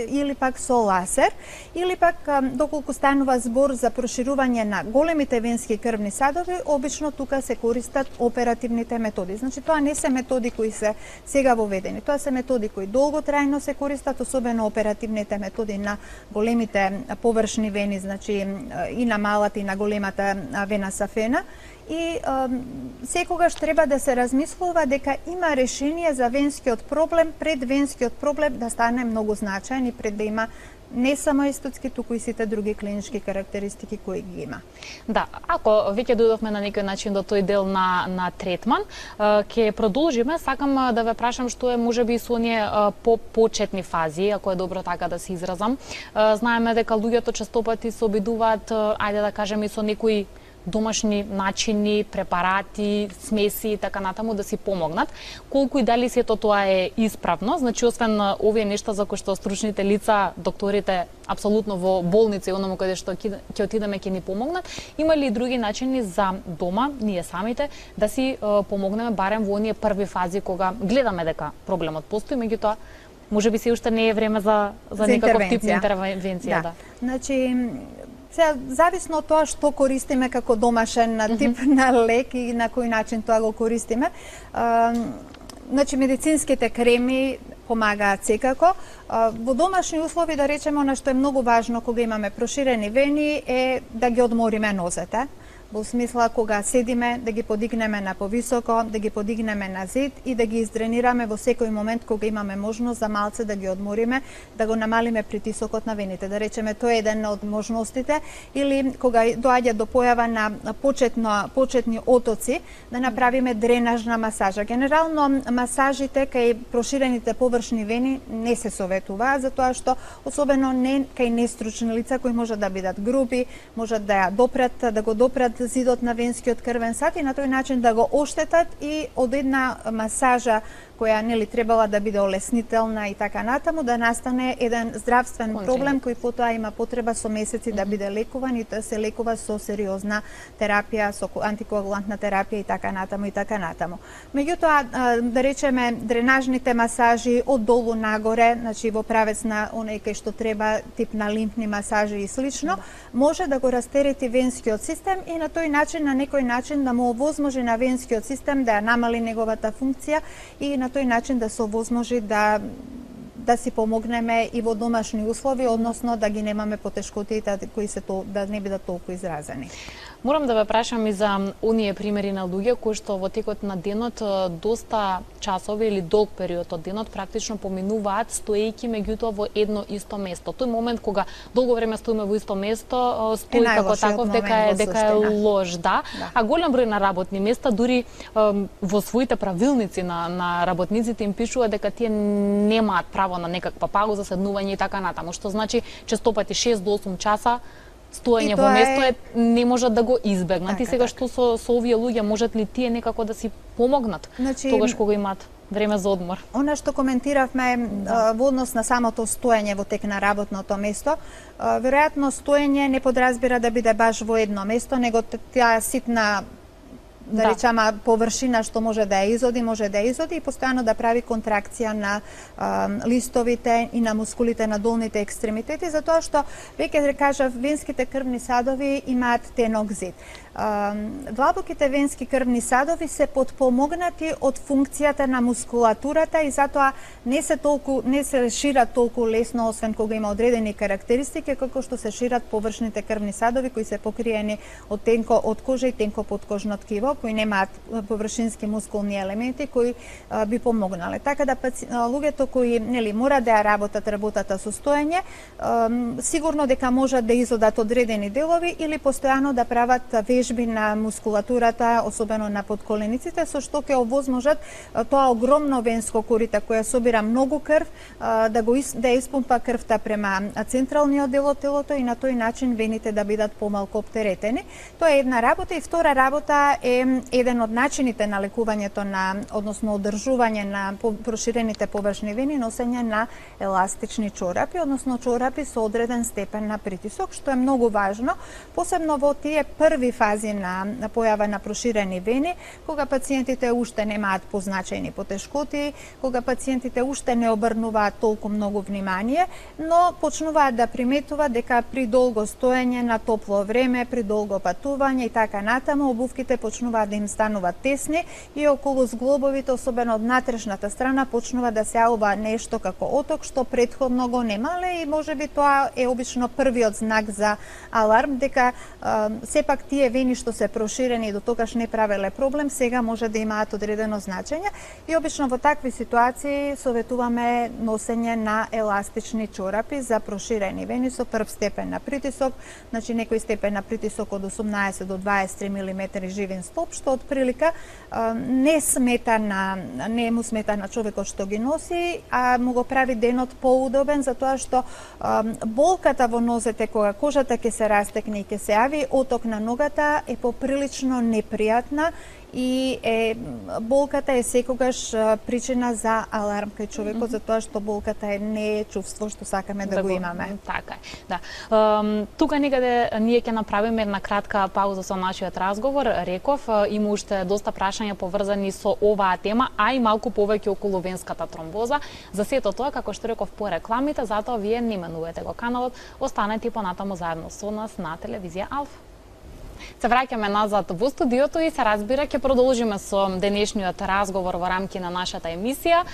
или пак со лазер, или пак доколку станува збор за проширување на големите венски крвни садови, обично тука се користат оперативните методи. Значи тоа не се методи кои се сега воведени. Тоа се методи кои долготрајно се користат, особено оперативните методи на големите површни вени, значи и на малата и на големата вена сафена. И секогаш треба да се размислува дека има решение за венскиот проблем, пред венскиот проблем да стане многу значаен и пред да има не само естетски, туку и сите други клинички карактеристики кои ги има. Да, ако веќе дојдовме на некој начин до тој дел на третман, ќе продолжиме. Сакам да ве прашам што е можеби со оние почетни фази, ако е добро така да се изразам. Знаеме дека луѓето честопати се обидуваат, ајде да кажеме, и со некои домашни начини, препарати, смеси и така натаму да си помогнат. Колку и дали сето тоа е исправно, значи освен овие нешта за кои што стручните лица, докторите апсолутно во болница и оному каде што ќе отидеме ќе ни помогнат, има ли и други начини за дома, ние самите, да си помогнеме барем во оние први фази кога гледаме дека проблемот постои, меѓутоа можеби се уште не е време за некаков тип интервенција. Да. Значи, зависно од тоа што користиме како домашен тип на лек и на кој начин тоа го користиме. Значи, медицинските креми помагаат секако. Во домашни услови, да речеме, она што е многу важно кога имаме проширени вени е да ги одмориме нозете. Во смисла кога седиме да ги подигнеме на повисоко, да ги подигнеме на зид и да ги издренираме во секој момент кога имаме можност за малце да ги одмориме, да го намалиме притисокот на вените. Да речеме, тоа е еден од можностите, или кога доаѓа до појава на почетни отоци, да направиме дренажна масажа. Генерално масажите кај проширените површни вени не се советува, затоа што особено не кај нестручни лица кои можат да бидат груби, можат да го допрат зидот на венскиот крвен сад и на тој начин да го оштетат и од една масажа која нели требала да биде олеснителна и така натаму, да настане еден здравствен проблем кој потоа има потреба со месеци да биде лекуван и да се лекува со сериозна терапија, со антикоагулантна терапија и така натаму и така натаму. Меѓутоа, да речеме, дренажните масажи од долу нагоре, значи во правец на оној кај што треба, тип на лимфни масажи и слично, може да го растерети венскиот систем и на тој начин, на некој начин да му овозможи на венскиот систем да ја намали неговата функција и на тој начин да се овозможи да си помогнеме и во домашни услови, односно да ги немаме потешкотиите кои се да не бидат толку изразени. Морам да ве прашам и за оние примери на луѓе кои што во текот на денот доста часови или долг период од денот практично поминуваат стоејќи меѓутоа во едно исто место. Тој момент кога долго време стоиме во исто место, стои како таков дека е лош, да. А голем број на работни места дури во своите правилници на работниците им пишува дека тие немаат право на некаква пауза, седнување и така натаму, што значи честопати 6 до 8 часа стоење во место не можат да го избегнат. И сега што со овие луѓе можат ли тие некако да си помогнат тогаш кога имаат време за одмор? Она што коментиравме во однос на самото стоење во тек на работното место, веројатно стоење не подразбира да биде баш во едно место, него таа ситна да речеме површина што може да ја изоди и постојано да прави контракција на листовите и на мускулите на долните екстремитети, затоа што веќе кажав, венските крвни садови имаат тенок зид. Длабоките венски крвни садови се потпомогнати од функцијата на мускулатурата и затоа не се шират толку лесно, освен кога има одредени карактеристики, како што се шират површните крвни садови кои се покриени од кожа и тенко подкожно ткиво, кои немаат површински мускулни елементи кои би помогнале. Така да луѓето кои мора да ја работат работата со стоење, сигурно дека можат да изодат одредени делови или постојано да прават вежби на мускулатурата, особено на подколениците, со што ќе овозможат тоа огромно венско корита која собира многу крв, да испумпа крвта према централниот дел од телото и на тој начин вените да бидат помалку оптеретени. Тоа е една работа и втора работа е еден од начините на лекувањето односно одржување на проширените површни вени, носење на еластични чорапи, односно чорапи со одреден степен на притисок, што е многу важно, посебно во тие први фази на појава на проширени вени, кога пациентите уште немаат позначајни потешкоти, кога пациентите уште не обрнуваат толку многу внимание, но почнуваат да приметуваат дека при долго стоење на топло време, при долго патување и така натаму, обувките почнуваат да им стануваат тесни и околу зглобовите, особено од натрешната страна, почнува да се јавува нешто како оток што претходно го немале и можеби тоа е обично првиот знак за аларм дека сепак тие вени што се проширени и до тогаш не правеле проблем, сега може да имаат одредено значење и обично во такви ситуации советуваме носење на еластични чорапи за проширени вени со прв степен на притисок, значи некој степен на притисок од 18 до 23 мм живин столб, што од прилика не му смета на човекот што ги носи, а му го прави денот поудобен, затоа што болката во нозете кога кожата ќе се растекне и ќе се јави оток на ногата болка е поприлично непријатна и болката е секогаш причина за аларм кај човекот, затоа што болката не е чувство што сакаме да го имаме. Така е, да. Тука некаде ние ќе направиме една кратка пауза со нашиот разговор. Реков, има уште доста прашања поврзани со оваа тема, а и малку повеќе околу венската тромбоза. За сето тоа, како што реков по рекламите, затоа вие не менувате го каналот, останете понатаму заедно со нас на телевизија Алфа. Се враќаме назад во студиото и се разбира ќе продолжиме со денешниот разговор во рамки на нашата емисија.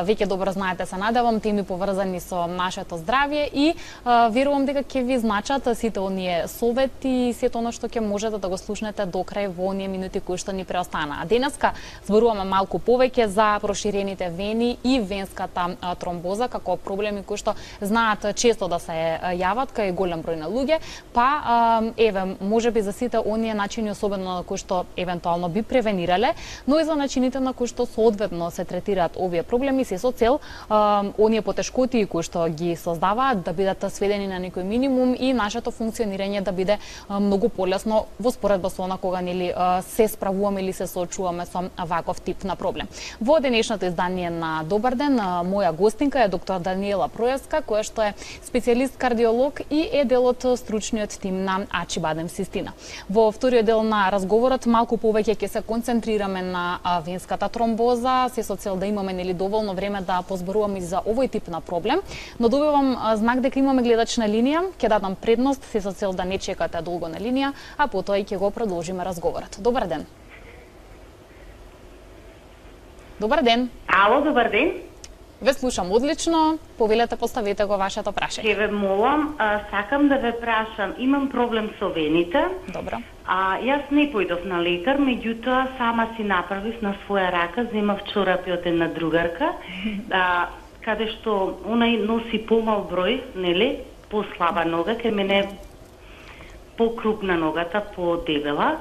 Веќе добро знаете, се надевам, теми поврзани со нашето здравје и верувам дека ќе ви значат сите оние совети и сето оно што ќе можете да го слушнете до крај во оние минути кои што ни преостана. А денеска зборуваме малку повеќе за проширените вени и венската тромбоза како проблеми кои што знаат често да се јават кај голем број на луѓе, па еве можеби за сите оние начини, особено на кои што евентуално би превенирале, но и за начините на кои што соодветно се третираат овие проблеми, се со цел оние потешкоти кои што ги создаваат да бидат сведени на некој минимум и нашето функционирање да биде многу полесно во споредба со она кога нели се справуваме или се соочуваме со ваков тип на проблем. Во денешното издание на Добар ден, моја гостинка е доктор Даниела Проевска, која што е специјалист кардиолог и е дел од стручниот тим на Ачибадем Систина. Во вториот дел на разговорот малку повеќе ќе се концентрираме на венската тромбоза, се со цел да имаме нели доволно време да позборуваме за овој тип на проблем, но добивам знак дека имаме гледач на линија, ќе дадам предност се со цел да не чекате долго на линија, а потоа и ќе го продолжиме разговорот. Добар ден. Добар ден. Ало, добар ден. Ве слушам одлично, повелете, поставете го вашето прашање. Ќе ве молам, сакам да ве прашам, имам проблем со вените. Добро. Јас не појдов на лекар, меѓутоа сама си направив на своја рака, земав чорапи од една другарка, каде што онај носи помал број, нели, послаба нога, кај мене покрупна ногата, подебела.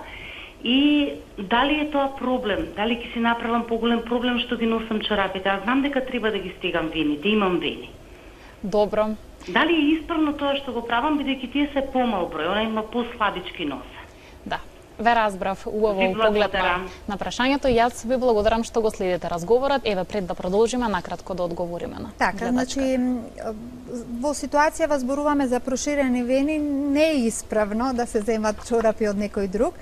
И дали е тоа проблем? Дали ќе си направам поголем проблем што ги носам чорапите? Аз знам дека треба да ги стегам вени, да имам вени. Добро. Дали е исправно тоа што го правам, бидејќи тие се помал број, она има послабички носа? Да. Ве разбрав, убаво поглед на прашањето. Јас ви благодарам што го следите разговорот. Еве, пред да продолжиме, накратко да одговориме на така, значи, во ситуација зборуваме за проширени вени, не е исправно да се земат чорапи од некој друг.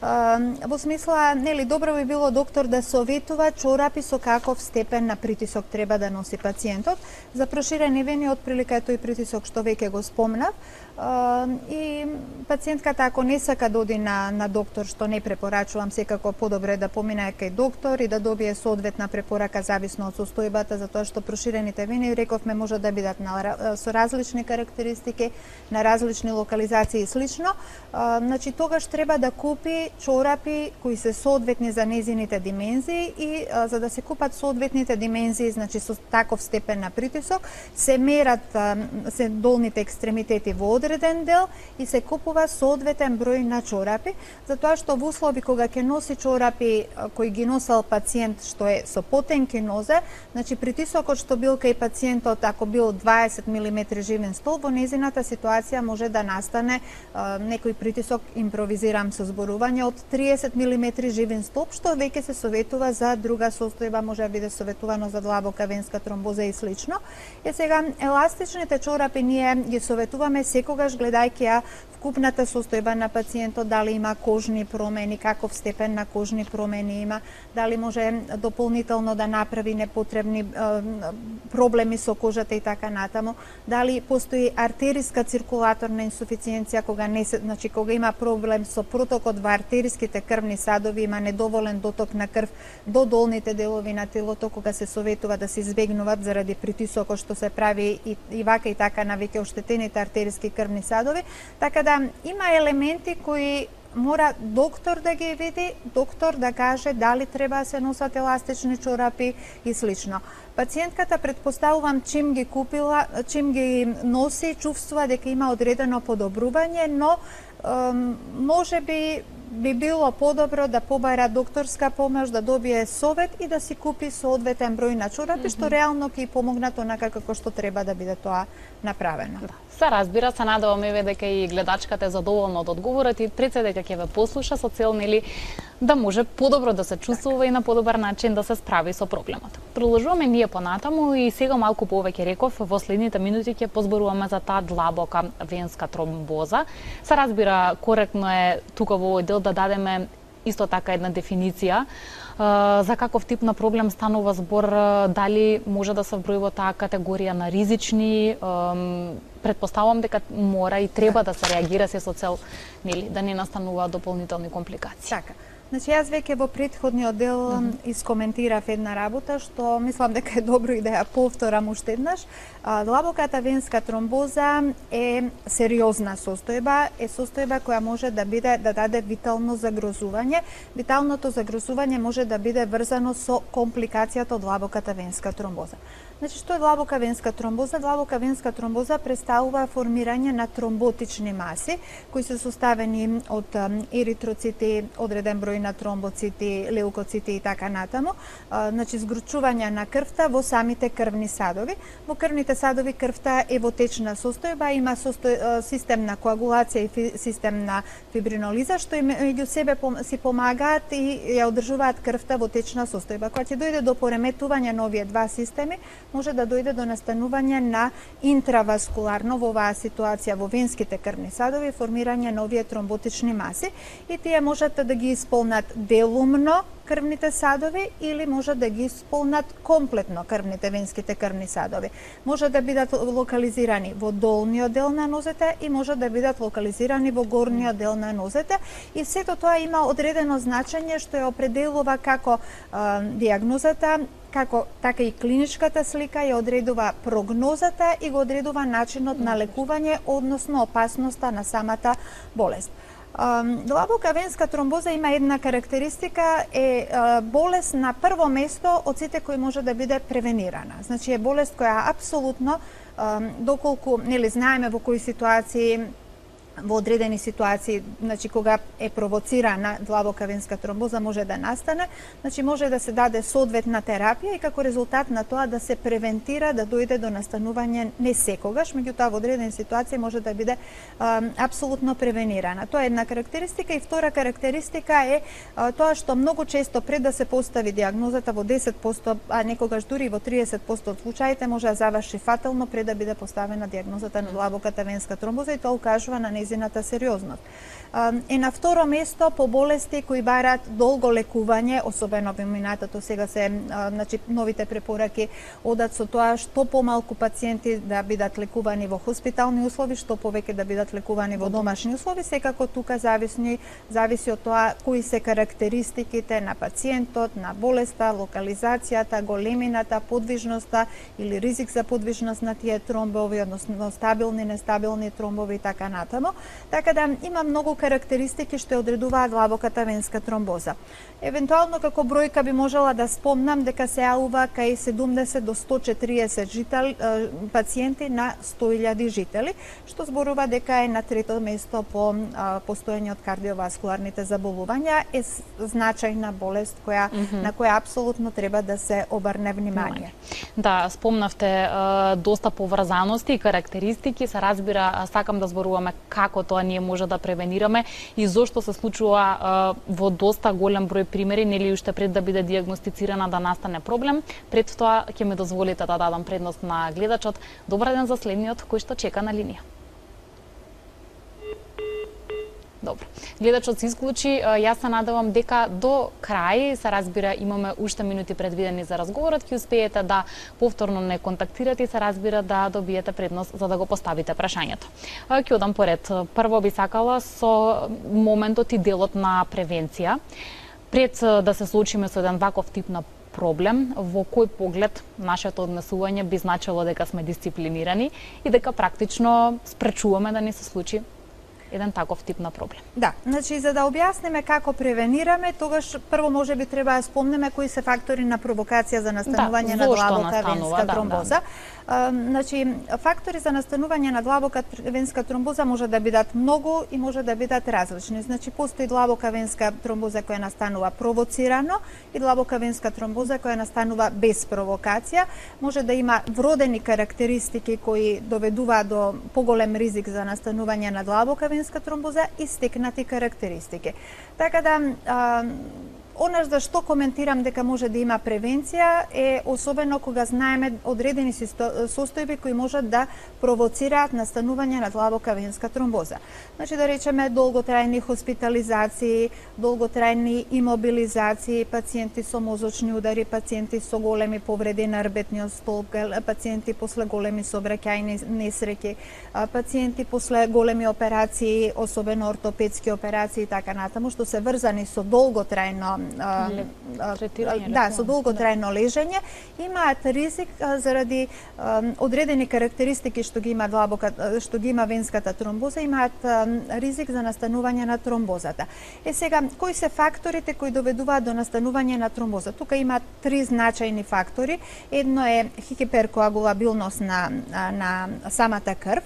Во смисла, нели, добро би било доктор да советува чорапи со каков степен на притисок треба да носи пациентот. За проширени вени отприлика е тој притисок што веќе го спомнав. И пациентката ако не сака да оди на доктор, што не препорачувам, секако подобре да помине кај доктор и да добие соодветна препорака зависно од состојбата, затоа што проширените вени, рековме, може да бидат со различни карактеристики, на различни локализации и слично. Значи, тогаш треба да купи чорапи кои се соодветни за незините димензии и за да се купат соодветните димензии, значи со таков степен на притисок, се мерат се долните екстремитети во одреден дел и се купува соодветен број на чорапи, затоа што во услови кога ќе носи чорапи кои ги носел пациент што е со потенки нозе, значи притисокот што бил кај пациентот ако бил 20 мм живен столб, во незината ситуација може да настане некој притисок, импровизирам со зборување, од 30 мм живен столб, што веќе се советува за друга состојба, може да биде советувано за длабока венска тромбоза и слично. И сега еластичните чорапи ние ги советуваме секогаш гледајќи ја вкупната состојба на пациентот, дали има кожни промени, каков степен на кожни промени има, дали може дополнително да направи непотребни проблеми со кожата и така натаму, дали постои артериска циркулаторна инсуфициенција, кога не се, значи кога има проблем со протокот во артериските крвни садови, има недоволен доток на крв до долните делови на телото, кога се советува да се избегнуваат заради притисокот што се прави и вака и така на веќе оштетените артериски крвни садови, така да има елементи кои мора доктор да ги види, доктор да каже дали треба да се носат еластични чорапи и слично. Пациентката, предпоставувам, чим ги купила, чим ги носи, чувствува дека има одредено подобрување, но може би би било подобро да побара докторска помош, да добие совет и да си купи соодветен број на чорапи, што реално ќе помогнат онака како што треба да биде тоа направено. Да. Се разбира, се надевам еве дека и гледачката е задоволна од одговорот и пред се дека ќе ве послуша со цел нели да може подобро да се чувствува и на подобар начин да се справи со проблемот. Продолжуваме ние понатаму и сега малку повеќе реков во следните минути ќе позборуваме за таа длабока венска тромбоза. Се разбира, коректно е тука во овој дел да дадеме исто така една дефиниција за каков тип на проблем станува збор, дали може да се вброи во таа категорија на ризични, предпоставувам дека мора и треба да се реагира се со цел нели да не настануваат дополнителни компликации. Така. Значи, јас веќе во претходниот дел искоментирав една работа што мислам дека е добро и да ја повторам уште еднаш. Длабоката венска тромбоза е сериозна состојба, е состојба која може да биде да даде витално загрозување. Виталното загрозување може да биде врзано со компликацијата од длабоката венска тромбоза. Значи, што е длабока венска тромбоза? Длабока венска тромбоза представува формирање на тромботични маси, кои се составени од еритроцити, одреден број на тромбоцити, леукоцити и така натаму. Значи, згручување на крвта во самите крвни садови. Во крвните садови крвта е во течна состојба, има систем на коагулација и систем на фибринолиза, што меѓу себе си помагаат и ја одржуваат крвта во течна состојба. Кога ќе дојде до пореметување на овие два системи, може да дојде до настанување на интраваскуларно во оваа ситуација во венските крвни садови, формирање на овие тромботични маси и тие можат да ги исполнат делумно крвните садови или може да ги исполнат комплетно крвните венските крвни садови. Може да бидат локализирани во долниот дел на нозете и може да бидат локализирани во горниот дел на нозете и сето тоа има одредено значење што ја определува како диагнозата, како така и клиничката слика ја одредува прогнозата и го одредува начинот на лекување, односно опасноста на самата болест. Длабока венска тромбоза има една карактеристика, е болест на прво место од сите кои може да биде превенирана. Значи е болест која апсолутно, доколку нели знаеме во кои ситуации, во одредени ситуации, значи кога е провоцирана длабока венска тромбоза може да настане, значи може да се даде соодветна терапија и како резултат на тоа да се превентира да дојде до настанување не секогаш, меѓутоа во одредени ситуации може да биде апсолутно превенирана. Тоа е една карактеристика и втора карактеристика е тоа што многу често пред да се постави диагнозата во 10%, а некогаш дури во 30% од случаите може да заврши фатално пред да биде поставена диагнозата на длабоката венска тромбоза и тоа укажува на нејзината сериозност. Е на второ место по болести кои бараат долго лекување, особено во минатото сега се значи новите препораки одат со тоа што помалку пациенти да бидат лекувани во хоспитални услови, што повеќе да бидат лекувани во домашни услови, секако тука зависи од тоа кои се карактеристиките на пациентот, на болеста, локализацијата, големината, подвижноста или ризик за подвижност на тие тромбови, односно стабилни, нестабилни тромбови и така натаму. Така да има многу карактеристики што одредуваат длабоката венска тромбоза. Евентуално како бројка би можела да спомнам дека се јавува кај 70 до 140 пациенти на 100.000 жители, што зборува дека е на трето место по постоење од кардиоваскуларните заболувања, е значајна болест на која апсолутно треба да се обрне внимание. Да, спомнавте доста поврзаности и карактеристики, се разбира, сакам да зборуваме како тоа ние може да превенираме и зошто се случува во доста голем број примери, нели уште пред да биде диагностицирана да настане проблем. Пред тоа ќе ме дозволите да дадам предност на гледачот. Добар ден за следниот кој што чека на линија. Добро. Гледачот се исклучи. Јас се надевам дека до крај, се разбира, имаме уште минути предвидени за разговорот, ќе успеете да повторно не контактирате и се разбира да добиете предност за да го поставите прашањето. Ќе одам поред. Прво би сакала со моментот и делот на превенција. Пред да се соочиме со еден ваков тип на проблем, во кој поглед нашето однесување би значило дека сме дисциплинирани и дека практично спречуваме да не се случи еден таков тип на проблем. Да, значи за да објасниме како превенираме, тогаш прво можеби треба да спомнеме кои се фактори на провокација за настанување на длабока венска тромбоза. Значи, фактори за настанување на длабока венска тромбоза може да бидат многу и може да бидат различни. Значи, постои длабока венска тромбоза која настанува провоцирано и длабока венска тромбоза која настанува без провокација. Може да има вродени карактеристики кои доведуваат до поголем ризик за настанување на длабока венска тромбоза и стекнати карактеристики. Така да, Она за што коментирам дека може да има превенција е особено кога знаеме одредени состојби кои можат да провоцираат настанување на длабока венска тромбоза. Значи да речеме долготрајни хоспитализации, долготрајни имобилизации, пациенти со мозочни удари, пациенти со големи повреди на рбетниот столб, пациенти после големи сообраќајни несреќи, пациенти после големи операции, особено ортопедски операции и така натаму, што се врзани со долготрајно со долготрајно лежење, имаат ризик заради одредени карактеристики што ги има венската тромбоза, имаат ризик за настанување на тромбозата. Сега, кои се факторите кои доведуваат до настанување на тромбоза? Тука има три значајни фактори. Едно е хиперкоагулабилност на самата крв,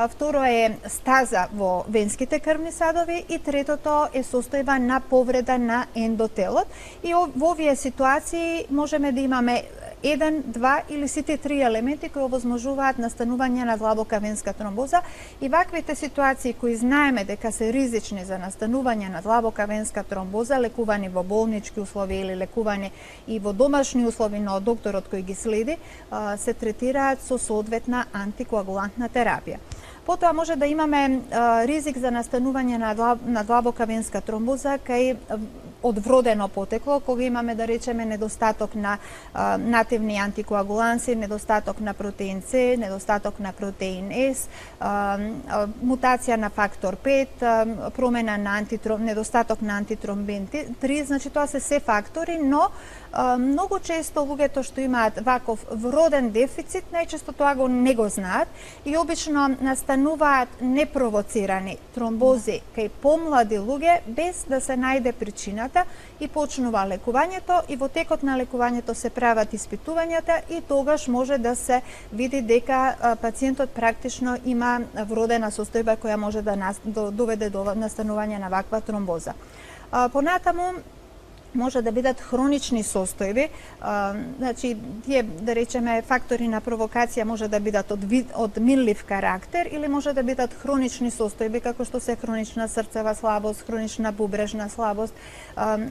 второ е стаза во венските крвни садови и третото е состојба на повреда на ендотелот. И во овие ситуации можеме да имаме еден, два или сите три елементи кои овозможуваат настанување на длабока венска тромбоза, и ваквите ситуации кои знаеме дека се ризични за настанување на длабока венска тромбоза, лекувани во болнички услови или лекувани и во домашни услови на докторот кој ги следи, се третираат со соодветна антикоагулантна терапија. Потоа може да имаме ризик за настанување на длабока венска тромбоза кај од вродено потекло, кога имаме, да речеме, недостаток на нативни антикоагуланси, недостаток на протеин С, недостаток на протеин С, мутација на фактор 5, промена на недостаток на антитромбин 3, значи тоа се фактори, но многу често луѓето што имаат ваков вроден дефицит, најчесто тоа не го знаат и обично настануваат непровоцирани тромбози кај помлади луѓе без да се најде причината и почнува лекувањето, и во текот на лекувањето се прават испитувањата и тогаш може да се види дека пациентот практично има вродена состојба која може да доведе до настанување на ваква тромбоза. Понатаму може да бидат хронични состојби, значи тие, да речеме, фактори на провокација може да бидат од минлив карактер или може да бидат хронични состојби како што се хронична срцева слабост, хронична бубрежна слабост,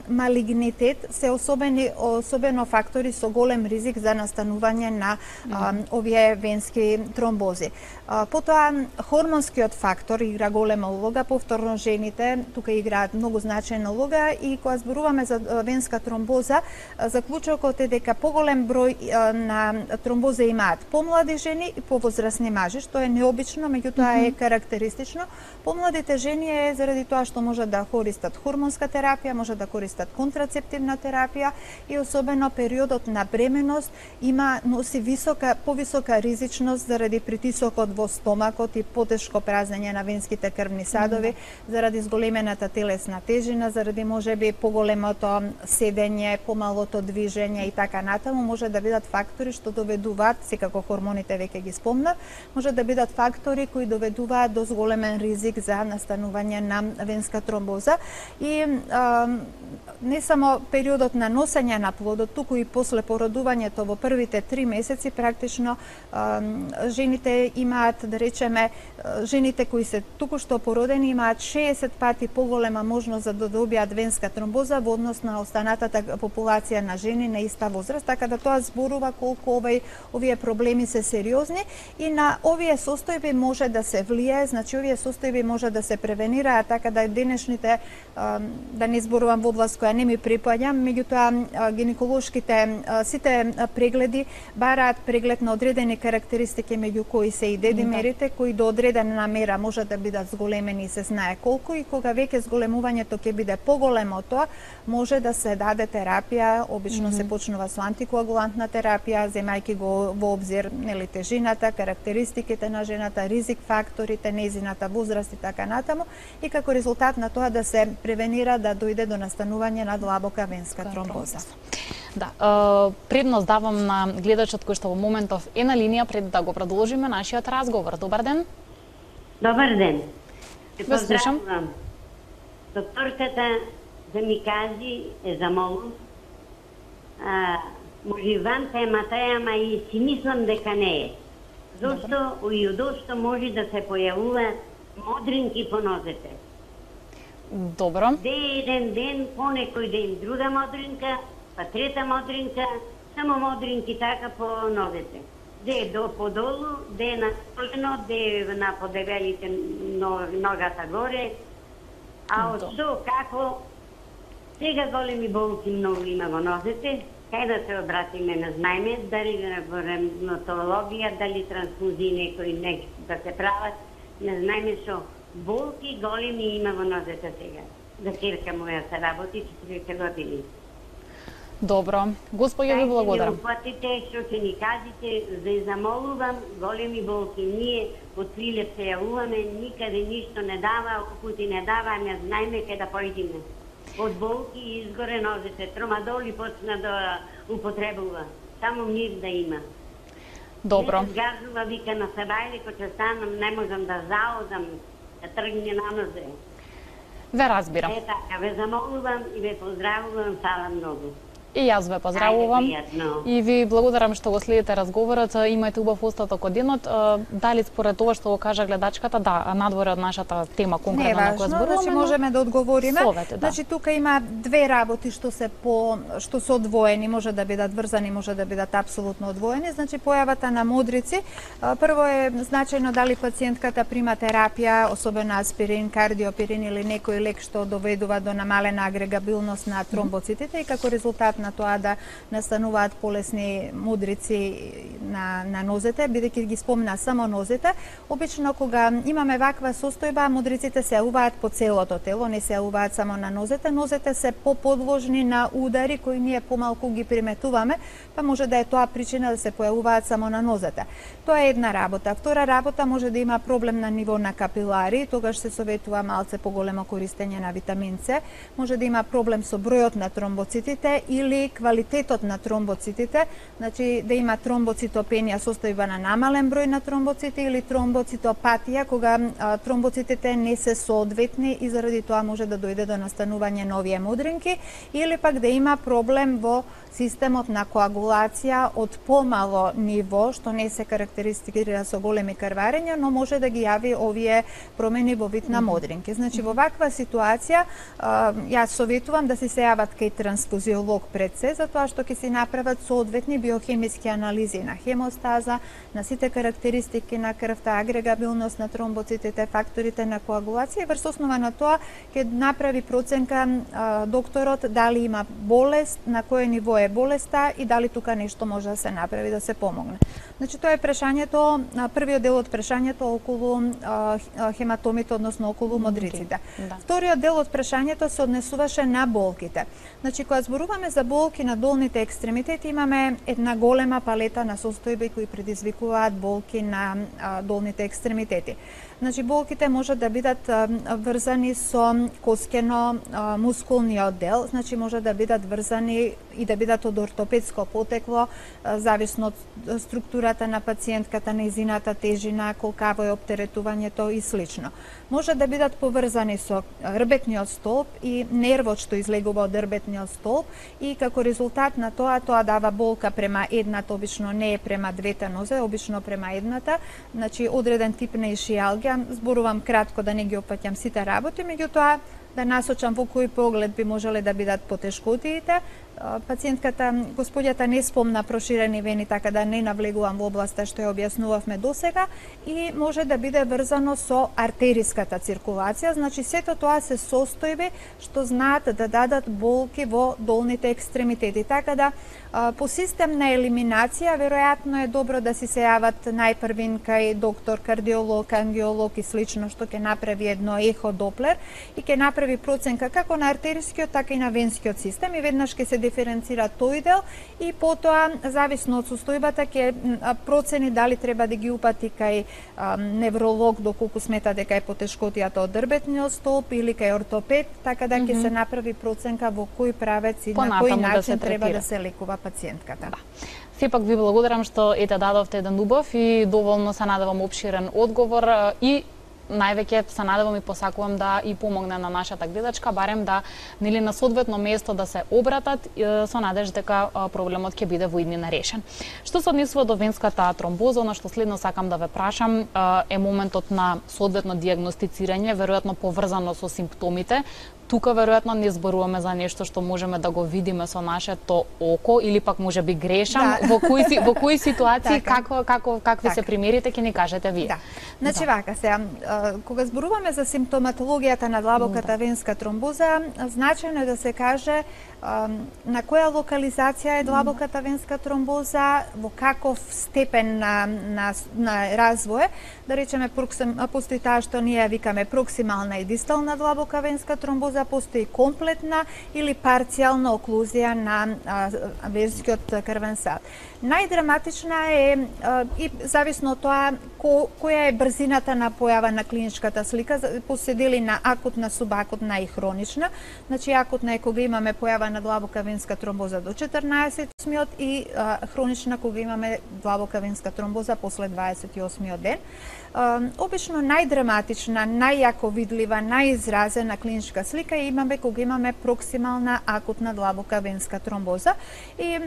малигнитет, се особено фактори со голем ризик за настанување на овие венски тромбози. Потоа хормонскиот фактор игра голема улога, повторно жените тука играат многу значајна улога, и кога зборуваме за венска тромбоза, заклучокот е дека поголем број на тромбоза имаат помлади жени и повозрасни мажи, што е необично, меѓутоа е карактеристично. Помладите жени е заради тоа што може да користат хормонска терапија, може да користат контрацептивна терапија, и особено периодот на бременост носи повисока ризичност заради притисокот во стомакот и потешко празнење на венските крвни садови, заради зголемената телесна тежина, заради можеби поголемото седење, помалото движење и така натаму, може да бидат фактори што доведуваат, секако хормоните веќе ги спомнав, може да бидат фактори кои доведуваат до зголемен ризик за настанување на венска тромбоза. И не само периодот на носење на плодот, туку и после породувањето во првите 3 месеци, практично жените имаат, да речеме, жените кои се туку-што породени имаат 60 пати поголема можност за да добијат венска тромбоза во однос на останатата популација на жени на иста возраст, така да тоа зборува колку овие проблеми се сериозни, и на овие состојби може да се влијае, значи овие состојби може да се превенираат, така да денешните, да не зборувам во област која не ми припаѓа, меѓутоа гинеколошките сите прегледи бараат преглед на одредени карактеристики, меѓу кои се и дедимерите, кои до одредена мера може да бидат зголемени и се знае колку, и кога веќе зголемувањето ќе биде поголемо од тоа, може да се даде терапија, обично се почнува со антикоагулантна терапија, земајќи го во обзир тежината, карактеристиките на жената, ризик факторите, нејзината возраст и така натаму, и како резултат на тоа да се превенира да дојде до настанување на длабока венска тромбоза. Да, предност давам на гледачот кој што во моментов е на линија пред да го продолжиме нашиот разговор. Добар ден. Добар ден. Ве слушам. Докторката да ми кажи, замолам, може ван темата е, ама и си мислам дека не е. Зошто и одошто може да се појавува модринки по нозете. Добро. Де еден ден, по некој ден друга модринка, па трета модринка, само модринки така по нозете. Де до подолу, де на колено, де на подебелите ногата горе. А од што, како, сега големи болки многу има во нозете, кај да се обратиме, не знаеме, дали во ревматологија, дали трансфузии некои да се прават, не знаеме што болки големи има во нозете сега. За керка моја се работи 40 години. Добро. Господја ви благодарам. Упатите, што ќе ни кажете, за замолувам, големи болки. Ние од Прилеп се јавуваме, никаде ништо не дава, упути не дава, не знаеме кај да појдеме. Од болки изгоре нозете, тромадол и почна да употребува. Само мир да има. Добро. Не газува, вика на Сабајле, кој ќе станам, не можам да заодам, да тргне на нозе. Ве разбирам. Е така, ве замолувам и ве поздравувам, фала многу. И јас ве поздравувам и ви благодарам што го следите разговорот. Имајте убав остаток од денот. Дали според тоа што го кажа гледачката, да, надвор од нашата тема конкретно на која зборуваме, значи можеме да одговориме. Совете, да. Значи тука има две работи што се одвоени, може да бидат врзани, може да бидат апсолутно одвоени. Значи појавата на модрици, прво е значајно дали пациентката прима терапија, особено аспирин, кардиопирин или некој лек што доведува до намалена агрегабилност на тромбоцитите и како резултат на тоа да настануваат полесни модрици на нозете, бидејќи ги спомна само нозете. Обично кога имаме ваква состојба, модриците се јавуваат по целото тело, не се јавуваат само на нозете. Нозете се поподложни на удари кои ние помалку ги приметуваме, па може да е тоа причина да се појавуваат само на нозете. Тоа е една работа. Втора работа може да има проблем на ниво на капилари, тогаш се советува малце поголемо користење на витамин С. Може да има проблем со бројот на тромбоцитите или квалитетот на тромбоцитите, значи да има тромбоцитопенија, состојба на намален број на тромбоцити или тромбоцитопатија, кога тромбоцитите не се соодветни и заради тоа може да дојде до настанување нови модринки, или пак да има проблем во системот на коагулација од помало ниво, што не се карактеристикира со големи крварења, но може да ги јави овие промени во вид на модринки. Значи во ваква ситуација јас советувам да се јават кај трансфузиолог пред се, затоа што ќе се направат соодветни биохемиски анализи на хемостаза, на сите карактеристики на крвта, агрегабилност на тромбоцитите, факторите на коагулација и врз основа на тоа ќе направи проценка докторот дали има болест, на кое ниво е болеста и дали тука нешто може да се направи да се помогне. Значи тоа е прашањето, првиот дел од прашањето околу хематомите, односно околу модриците. Вториот дел од прашањето се однесуваше на болките. Значи кога зборуваме за болки на долните екстремитети, имаме една голема палета на состојби кои предизвикуваат болки на долните екстремитети. Значи болките може да бидат врзани со коскено-мускулниот дел, значи може да бидат врзани и да бидат од ортопедско потекло, зависно од структурата на пациентката, нејзината тежина, колкаво е оптеретувањето и слично. Може да бидат поврзани со рбетниот столб и нервот што излегува од рбетниот столб и како резултат на тоа дава болка према едната, обично не е према двете нозе, обично према едната, значи одреден тип на ишијалгија. Зборувам кратко да не ги опаќам сите работи, меѓутоа да насочам во кој поглед би можеле да бидат потешкотиите. Пациентката, господјата не спомна проширени вени, така да не навлегувам во областа што ја објаснувавме досега и може да биде врзано со артериската циркулација, значи сето тоа се состојби што знаат да дадат болки во долните екстремитети. Така да по систем на елиминација веројатно е добро да си се јават најпрвин кај доктор, кардиолог, ангиолог и слично што ќе направи едно ехо доплер и ќе направи проценка како на артерискиот, така и на венскиот систем и веднаш ќе се диференцира тој дел и потоа зависно од состојбата ќе процени дали треба да ги упати кај невролог доколку смета дека е потешкотијата од дрбетниот столб или кај ортопед, така да ќе се направи проценка во кој правец и на кој начин треба да се лекува пациентката. Сепак ви благодарам што дадовте еден убав и доволно се надевам опширен одговор и највеќе се надевам и посакувам да и помогне на нашата гледачка, барем да нели на соодветно место да се обратат со надеж дека проблемот ќе биде во иднина решен. Што се однесува до венската тромбоза, она што следно сакам да ве прашам е моментот на соодветно дијагностицирање, веројатно поврзано со симптомите. Тука веројатно не зборуваме за нешто што можеме да го видиме со нашето око или пак можеби грешам, во кои ситуации какви се примерите ќе ни кажете вие. Значи вака сега, кога зборуваме за симптоматологијата на длабоката венска тромбоза, значајно е да се каже на која локализација е длабоката венска тромбоза, во каков степен на развој, да речеме постои таа што ние викаме проксимална и дистална длабока венска тромбоза, постои комплетна или парцијална оклузија на венскиот крвен сад. Најдраматична е и зависно од тоа која е брзината на појава на клиничката слика, поседели на акутна, субакутна и хронична. Значи акутна е кога имаме појава на длабока венска тромбоза до 14-миот и хронична кога имаме длабока венска тромбоза после 28-миот ден. Обично најдраматична, најјако видлива, најизразена клиничка слика имаме кога имаме проксимална акутна длабока венска тромбоза и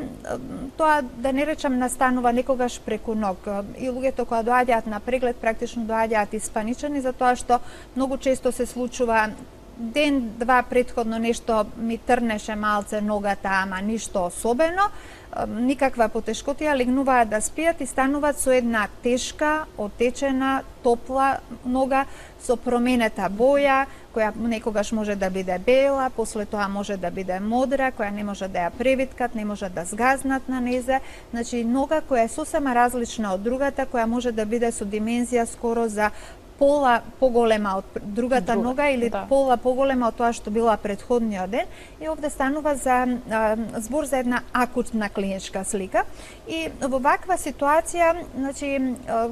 тоа да не речам настанува некогаш преку ног. И луѓето кога доаѓаат на преглед практично доаѓаат испаничени затоа што многу често се случува ден-два претходно нешто ми трнеше малце ногата, ама ништо особено, никаква потешкотија, легнуваат да спијат и стануваат со една тешка, отечена, топла нога со променета боја, која некогаш може да биде бела, после тоа може да биде модра, која не може да ја превиткат, не може да згазнат на незе. Значи нога која е сосема различна од другата, која може да биде со димензија скоро за пола поголема од другата нога или пола поголема од тоа што била претходниот ден и овде станува за збор за една акутна клиничка слика и во ваква ситуација, значи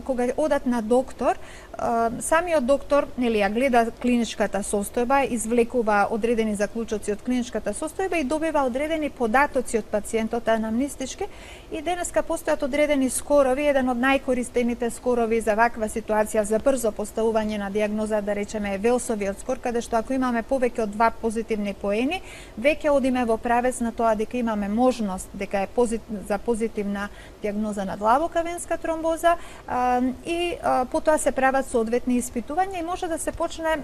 кога одат на доктор, самиот доктор нели ја гледа клиничката состојба, извлекува одредени заклучоци од клиничката состојба и добива одредени податоци од пациентот анамнестички и денеска постојат одредени скорови, еден од најкористените скорови за ваква ситуација за брзо поставување на дијагноза, да речеме, е Велсовиот скор, каде што ако имаме повеќе од 2 позитивни поени, веќе одиме во правец на тоа дека имаме можност дека е за позитивна дијагноза на длабока венска тромбоза и потоа се прават соодветни испитувања и може да се почне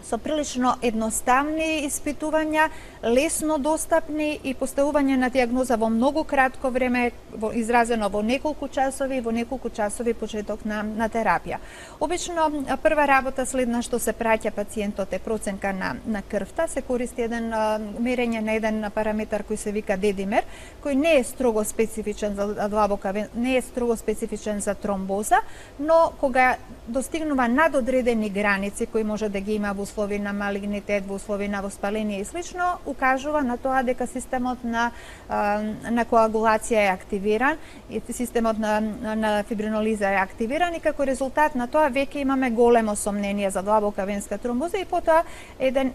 со прилично едноставни испитувања, лесно достапни и поставување на дијагноза во многу кратко време, изразено во неколку часови почеток на терапија. Обично прва работа следна што се праќа пациентот е проценка на крвта, се користи еден мерење на еден параметар кој се вика дедимер, кој не е строго специфичен за длабока, не е строго специфичен за тромбоза, но кога достигнува над одредени граници кои може да ги има во услови на малигнитет, во услови на воспаление и слично, укажува на тоа дека системот на коагулација е активиран и системот на фибринолиза е активиран и како резултат на тоа веќе имаме големо сомнение за длабока венска тромбоза и потоа еден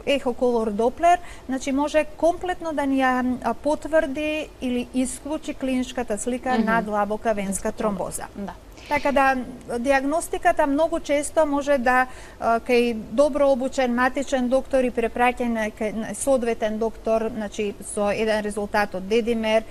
ехоколор доплер, значи може комплетно да ни ја потврди или исклучи клиничката слика на длабока венска тромбоза. Така да дијагностиката многу често може да кај добро обучен матичен доктор и препраќање кај соодветен доктор, значи со еден резултат од дедимер,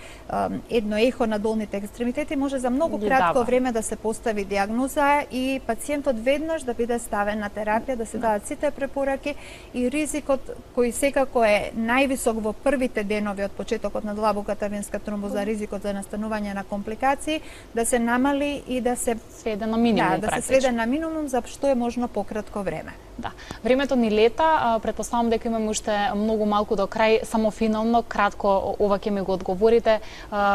едно ехо на долните екстремитети може за многу кратко време да се постави дијагноза и пациентот веднаш да биде ставен на терапија, да се дадат сите препораки и ризикот кој секако е највисок во првите денови од почетокот на длабоката венска тромбоза, ризикот за настанување на компликации, да се намали и да се сведе на минимум, да се сведе на минимум за што е можно пократко време. Да. Времето ни лета, претпоставам дека имаме уште многу малку до крај, само финално, кратко ова ќе ми го одговорите.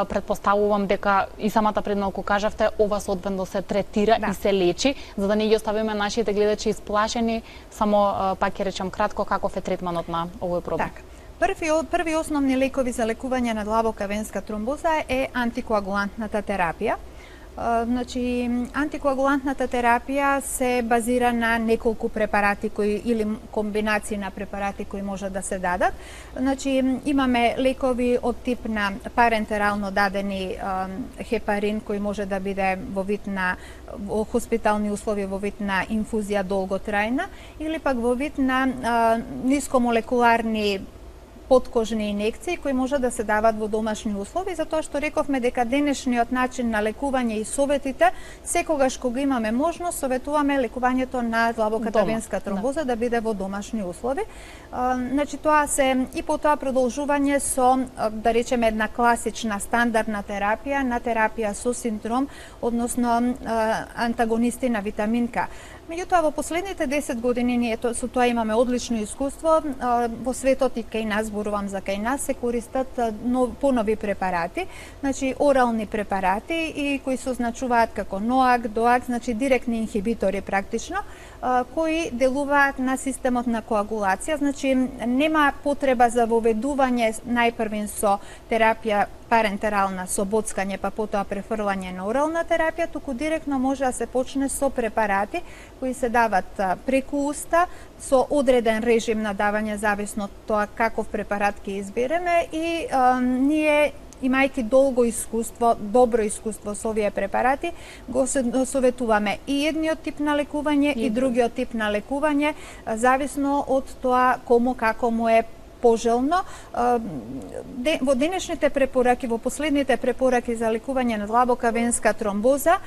Претпоставувам дека и самата пред малку кажавте, ова соодветно се третира и се лечи, за да не ги оставиме нашите гледачи исплашени, само пак ќе речам кратко каков е третманот на овој проблем. Така. Први основни лекови за лекување на длабока венска тромбоза е антикоагулантната терапија. Значи, антикоагулантната терапија се базира на неколку препарати или комбинации на препарати кои може да се дадат. Значи, имаме лекови од тип на парентерално дадени хепарин кој може да биде во вид на хоспитални услови, во вид на инфузија долготрајна или пак во вид на нискомолекуларни подкожни инекции кои може да се дават во домашни услови, затоа што рековме дека денешниот начин на лекување и советите, секогаш кога имаме можност, советуваме лекувањето на длабоката венска тромбоза да биде во домашни услови. Значи тоа се и потоа продолжување со, да речеме, една класична стандардна терапија, на терапија со синдром, односно антагонисти на витамин К. Меѓутоа, во последните 10 години ние со тоа имаме одлично искуство. Во светот и кај нас, зборувам за кај нас, се користат понови препарати, значи орални препарати и кои се означуваат како НОАК, ДОАК, значи директни инхибитори практично, кои делуваат на системот на коагулација, значи нема потреба за воведување најпрвен со терапија парентерална со боцкање, па потоа префрлање на орална терапија, туку директно може да се почне со препарати кои се дават преку уста, со одреден режим на давање, зависно од тоа каков препарат ќе избереме и ние имајќи добро искуство со овие препарати, го советуваме и едниот тип на лекување и другиот тип на лекување, зависно од тоа кому како му е пожелно. Во денешните препораки, во последните препораки за лекување на длабока венска тромбоза,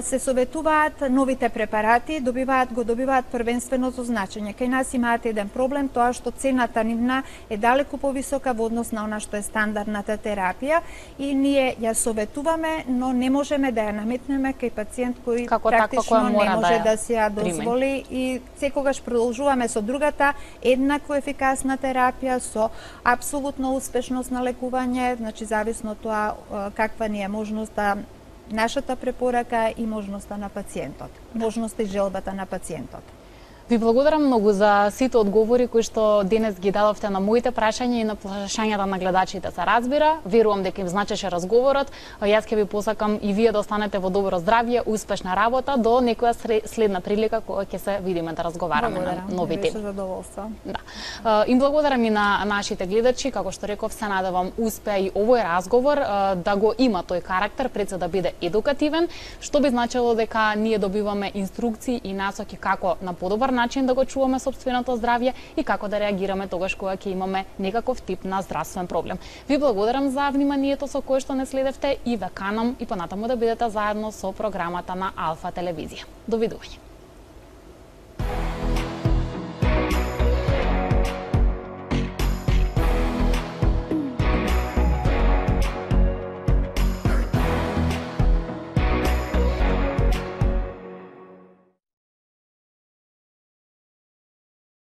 се советуваат новите препарати, го добиваат првенственото значење. Кај нас имаат еден проблем, тоа што цената нивна е далеку повисока во однос на она што е стандардната терапија и ние ја советуваме, но не можеме да ја наметнеме кај пациент кој практично не може да се ја дозволи и секогаш продолжуваме со другата еднакво ефикасна терапија, со апсолутна успешност на лекување, значи зависно од тоа каква ни е можноста, нашата препорака и можноста на пациентот, можноста и желбата на пациентот. Ви благодарам многу за сите одговори кои што денес ги дадовте на моите прашања и на прашањата на гледачите. Се разбира, верувам дека им значеше разговорот. Јас ќе ви посакам и вие да останете во добро здравје, успешна работа до некоја следна прилика кога ќе се видиме да разговараме на нови теми. Беше задоволство. Да. Им благодарам и на нашите гледачи, како што реков, се надевам успеа и овој разговор да го има тој карактер, пред се да биде едукативен, што би значило дека ние добиваме инструкции и насоки како на подобар начин да го чуваме сопственото здравје и како да реагираме тогаш кога ќе имаме некаков тип на здравствен проблем. Ви благодарам за вниманието со кое што не следевте и ве канам и понатаму да бидете заедно со програмата на Алфа телевизија. Довидување.